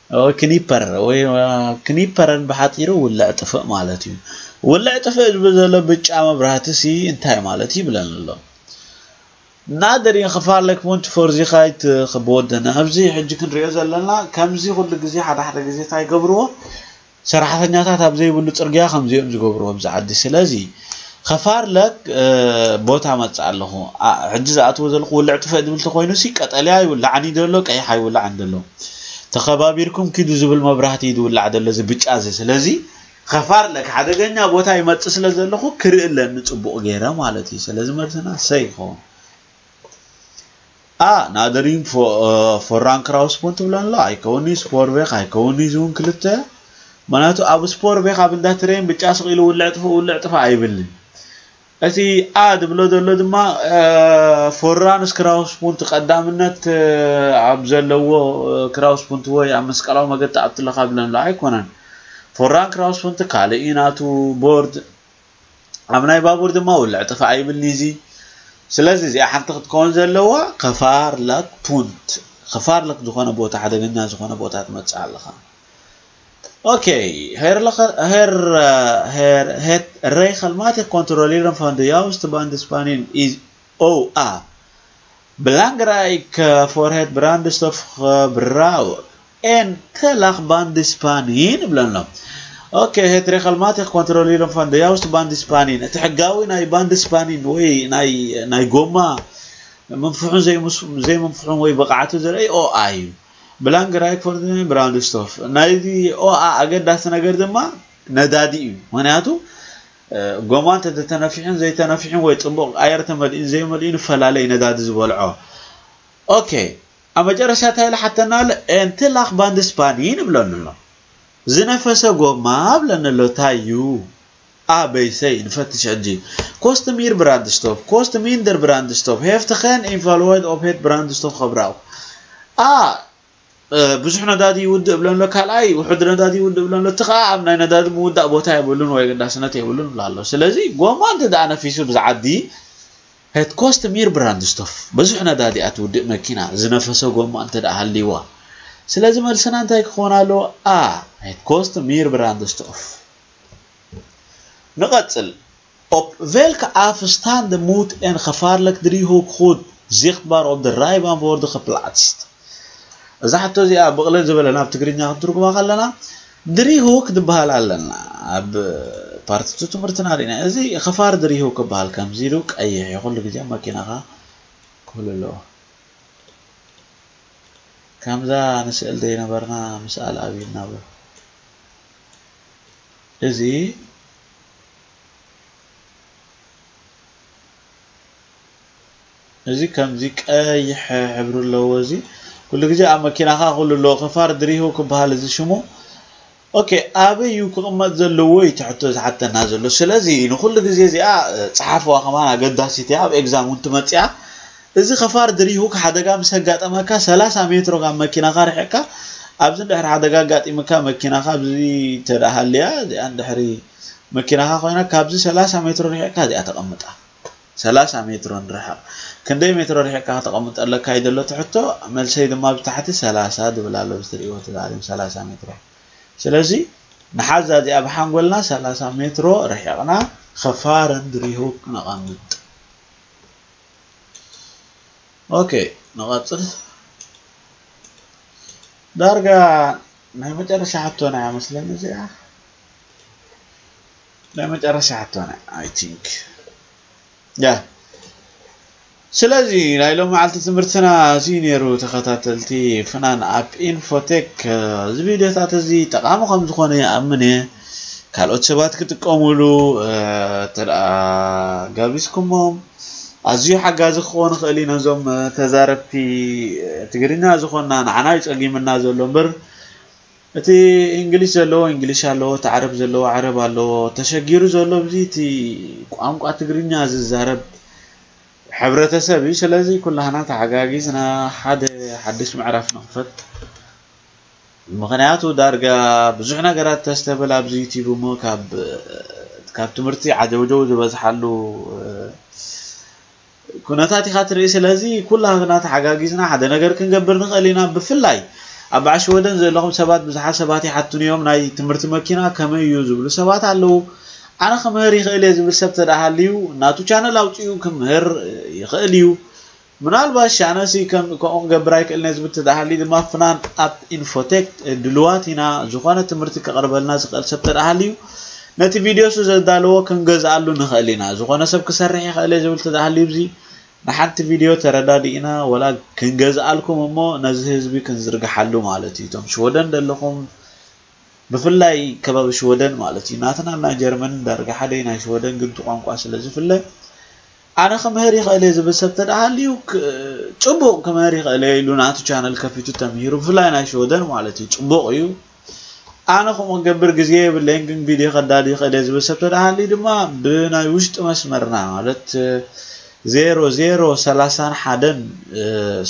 ወይ ክኒፐር፣ ወይ፣ አ፣ ክኒፐረን ብሓፂሩ ውልዕ ጥፍእ ማለት እዩ። ውልዕ ጥፍእ ዝብል ዘሎ ብጫ መብራህቲ ሲ እንታይ ማለት እዩ ይብለኒ ኣሎ። Nadering gevaarlijk punt voor zich uit, eh, geboden. ኣብዚ ሕጂ ክንሪኦ ዘለና ከምዚ ኩሉ ግዜ ሓደ ሓደ ግዜ እንታይ ይገብርዎ? ሰራሕተኛታት ኣብ ዘይብሉ ጽርግያ ከምዚኦም ዝገብርዎ ኣብዚ ዓዲ። ስለዚ ኸፋርለክ፣ እ፣ ቦታ መጽእ ኣለኹ። ኣ፣ ሕጂ ዝኣትዎ ዘለኹ ውልዕ ጥፍእ ዝብል ተኾይኑ ሲ ቀጠልያ ይውላዕን እዩ ዘሎ፣ ቀይሕ ኣይውላዕን ዘሎ። ተኸባቢርኩም ኪዱ ዝብል መብራህቲ እዩ ዝውላዕ ዘሎ፣ እዚ ብጫ እዚ። ስለዚ ኸፋርለክ ሓደገኛ ቦታ ይመጽእ ስለ ዘለኹ ክርኢ ኣለኒ ጽቡቕ ገይረ ማለት እዩ። ስለዚ መልስና ሰ ይኸውን። ኣ፣ ናደሪን ፎ-፣ እ፣ ፎራን ክራውስፖንት ትብሎ ኣሎ። ኣይከውን'ዩ ስፖርቬክ፣ ኣይከውን'ዩ ዝውን ክልተ። ምኽንያቱ ኣብ ስፖርቬክ ኣብ እንዳ ትሬን ብጫ ስቕ ኢሉ ውልዕ ጥፍእ፣ ውልዕ ጥፍእ ኣይብልን። እቲ ኣ ድብሎ ዘሎ ድማ፣ እ፣ ፎራንስ ክራውስፖንት ቀዳምነት፣ እ፣ ኣብ ዘለዎ፣ እ፣ ክራውስፖንት ወይ ኣብ መስቀላዊ መገዲ ኣብ ትለኻ ብለን ኣሎ። ኣይኮነን። ፎራን ክራውስፖንት ካልእ እዩ ናቱ ቦርድ። ኣብ ናይ ባቡር ድማ ውልዕ ጥፍእ ኣይብልን'ዩ እዚ። ስለዚ እዚኣ ሓንቲ ክትከውን ዘለዋ ኸፋርለክ ፑንት፣ ኸፋርለክ ዝኾነ ቦታ፣ ሓደገኛ ዝኾነ ቦታ ትመጽእ ኣለኻ። ኦኬ፣ ሄር ለኸ-፣ ሄር፣ ሄር፣ het regelmatig controleren van de juiste bandenspanning is O A. Belangrijk, eh, voor het brandstofgebruik en te laag bandenspanning ብለና። ኦኬ፣ het regelmatig controleren van de juiste bandenspanning፣ እቲ ሕጋዊ ናይ ባንድስፓኒን ወይ ናይ፣ ናይ ጎማ ምንፍሑን ዘይምስ-፣ ዘይምንፍሑን ወይ ብቕዓቱ ዘርኢ ኦ ኣይ እዩ። ብላንክ ራይክ ፎር ብራንድስቶፍ ናይዚ ኦኣ ኣገዳሲ ነገር ድማ ነዳዲ እዩ። ምክንያቱ ጎማ እንተተነፊሑን ዘይተነፊሑን ወይ ፅቡቕ ኣየር ተመሊኡን ዘይመሊኡን ይፈላለ እዩ ነዳዲ ዝበልዖ። ኦኬ፣ ኣብ መጨረሻ እንታይ ኢሉ ሓተና ኣሎ? ኤንትላኽ ባንድስፓኒ ንብለኒ ኣሎ። ዝነፈሰ ጎማ ብለኒ ኣሎ። እንታይ እዩ? ኣበይሰይ ንፈትሽ ሕጂ። ኮስት ሚር ብራንድስቶፍ፣ ኮስት ሚንደር ብራንድስቶፍ፣ ሄፍትኸን ኢንፋልዋይድ ኦፕሄት ብራንድስቶፍ ኸብራው። ኣ ብዙሕ ነዳዲ ይውድእ ብለሎ፣ ካልኣይ ውሑድ ነዳዲ ይውድእ ብለሎ፣ እቲ ከዓ ኣብ ናይ ነዳዲ ምውዳእ ቦታ የብሉን ወይ ኣገዳስነት የብሉን ብላ ኣሎ። ስለዚ ጎማ እንተ ደኣ ነፊሱ ብዝዓዲ ሄት ኮስት ሚር ብራንድስቶፍ፣ ብዙሕ ነዳዲ ኣትውድእ መኪና ዝነፈሰ ጎማ እንተ ደኣ ሃልይዋ። ስለዚ መልስና እንታይ ክኾን ኣለዎ? ኣ ሄት ኮስት ሚር ብራንድስቶፍ። ንቐጽል። Op welke afstand moet een gevaarlijk driehoek goed zichtbaar op de rijbaan worden geplaatst? እዛ ሕቶ እዚኣ ብቕልል ዝበለ ናብ ትግርኛ ክትትርጉማ ከለና ድሪሁክ ዝበሃል ኣለና ኣብ ፓርቲቱ ትምህርትና ርኢና። እዚ ኸፋር ድሪሁክ ይበሃል። ከምዚ ኢሉ ቀይሕ እዩ ኩሉ ግዜ መኪናኻ ክህሉ ኣለዎ። ከምዛ ንስእል ዘይነበርና ምስኣል ኣብይ እናበሉ እዚ እዚ ከምዚ ቀይሕ ሕብሪ ኣለዎ። እዚ ኩሉ ግዜ ኣብ መኪናኻ ኩሉ ኣለዎ። ከፋር ድሪሁ ክበሃል እዚ ሽሙ። ኦኬ፣ ኣበይ እዩ ክቕመጥ ዘለዎ እዩ ትሕቶ ዝሓተና ዘሎ። ስለዚ ንኩሉ ግዜ እዚኣ እ፣ ጸሓፍዋ ከማን ኣገዳሲት እያ። ኣብ ኤግዛም እውን ትመጽእ እያ። እዚ ከፋር ድሪሁ ሓደጋ ምስ ኣጋጠመካ ሰላሳ ሜትሮ ካብ መኪናኻ ርሒቕካ ኣብዚ እንድሕር ሓደጋ ኣጋጢምካ መኪናኻ ኣብዚ ተደኣ ሃልያ እዚኣ እንድሕሪ መኪናኻ ኮይና ካብዚ ሰላሳ ሜትሮ ርሒቕካ እዚኣ ተቐምጣ። ሰላሳ ሜትሮ ንርሕቕ። ክንደይ ሜትሮ ርሒቕካ ከተቐምጠለካ እዩ ዘሎ ትሕቶ? መልሰይ ድማ ብታሕቲ ሰላሳ ዝብል ኣሎ፣ እዚ ትርእይዎ እቲ ዛዕሊም ሰላሳ ሜትሮ። ስለዚ ንሓዛ እዚኣ ብሓንጎልና ሰላሳ ሜትሮ ርሒቕና ኸፋርን ድሪሁ ክነቐምጥ። ኦኬ፣ ንቐጽል። ዳርጋ ናይ መጨረሻ ሕቶና እያ መስለኒ እዚኣ። ናይ መጨረሻ ሕቶና እያ፣ I think። ያ። ስለዚ ናይ ሎም መዓልቲ ትምህርትና እዚ ነይሩ። ተኸታተልቲ ፍናን ኣፕ ኢንፎቴክ፣ እ፣ እዚ ቪድዮታት እዚ ጠቓሚ ከም ዝኾነ ይኣምን እየ። ካልኦት ሰባት ክጥቀሙሉ፣ እ፣ እንተ ደኣ ጋቢዝኩሞም ኣዝዩ ሓጋዚ ክኸውን ይኽእል እዩ ነዞም፣ እ፣ ተዛረብቲ፣ እ፣ ትግርኛ ዝኾንና። ንዓና እዩ ጸጊምና ዘሎ እምበር እቲ እንግሊሽ ዘለዎ እንግሊሽ ኣለዎ፣ እቲ ዓረብ ዘለዎ ዓረብ ኣለዎ። ተሸጊሩ ዘሎ ኣብዚ እቲ ቋንቋ ትግርኛ ዝዛረብ ሕብረተሰብ እዩ። ስለዚ ኩላህና ተሓጋጊዝና ሓደ ሓድሽ ምዕራፍ ንኽፈት። ምኽንያቱ ዳርጋ ብዙሕ ነገራት ተስተብል ኣብዚ ዩቲዩብ እሞ ካብ ካብ ትምህርቲ ዓጀውጀው ዝበዝሓሉ እ፣ ኩነታት ኢኻ ትርኢ። ስለዚ ኩላህና ተሓጋጊዝና ሓደ ነገር ክንገብር ንኽእል ኢና። ብፍላይ ኣብ በዓል ሽወደን ዘለኹም ሰባት ብዙሓት ሰባት ይሓቱኒ እዮም፣ ናይ ትምህርቲ መኪና ከመይ እዩ ዝብሉ ሰባት ኣለዉ። ኣነ ክምህር ይኽእል እየ ዝብል ሰብ ተደኣ ሃልዩ ናቱ ቻነል ኣውፂኡ ክምህር ይኽእል እዩ። ምናልባት ሻነሲ ከም ከምኡ ክገብር ኣይክእልን እየ ዝብል ተደኣ ሃልዩ ድማ ፍናን ኣፕ ኢንፎቴክ ድልዋት ኢና። ዝኾነ ትምህርቲ ከቕርበልና ዝኽእል ሰብ ተደኣ ሃልዩ ነቲ ቪድዮ እሱ ዘዳለዎ ክንገዝኣሉ ንኽእል ኢና። ዝኾነ ሰብ ክሰርሕ ይኽእል እየ ዝብል ተደኣ ሃልዩ እዚ ንሓንቲ ቪድዮ ተረዳዲእና ወላ ክንገዝኣልኩም እሞ ነዚ ህዝቢ ክንዝርግሓሉ ማለት እዩ። እቶም ሽወደን ዘለኹም ብፍላይ ከባቢ ሽወደን ማለት እዩ። ናትና ናይ ጀርመን ዳርጋ ሓደ እዩ፣ ናይ ሽወደን ግን እቲ ቋንቋ ስለ ዝፍለ ኣነ ክምህር ይኽእል እየ ዝብል ሰብ ተደኣ ሃልዩ ክ- ጽቡቕ ክምህር ይኽእል እየ ኢሉ ናቱ ቻነል ከፊቱ ተምሂሩ ብፍላይ ናይ ሽወደን ማለት እዩ ጽቡቕ እዩ። ኣነ ከምኡ ክገብር ግዜ የብለይን ግን ቪድዮ ከዳሉ ይኽእል እየ ዝብል ሰብ ተደኣ ሃልዩ ድማ ብናይ ውሽጢ መስመርና ማለት ዜሮ ዜሮ ሰላሳን ሓደን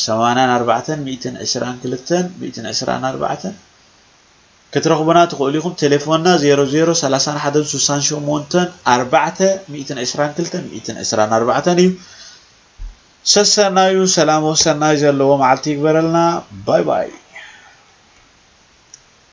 ሰማንያን ኣርባዕተን ሚእትን ዕስራን ክልተን ሚእትን ዕስራን ኣርባዕተን ክትረኽቡና ትኽእሉ ኢኹም። ቴሌፎንና ዜሮ ዜሮ ሰላሳን ሓደን ስሳን ሸሞንተን ኣርባዕተ ሚእትን ዕስራን ክልተን ሚእትን ዕስራን ኣርባዕተን እዩ። ሰሰናዩ ሰላም ወሰናይ ዘለዎ መዓልቲ ይግበረልና። ባይ ባይ።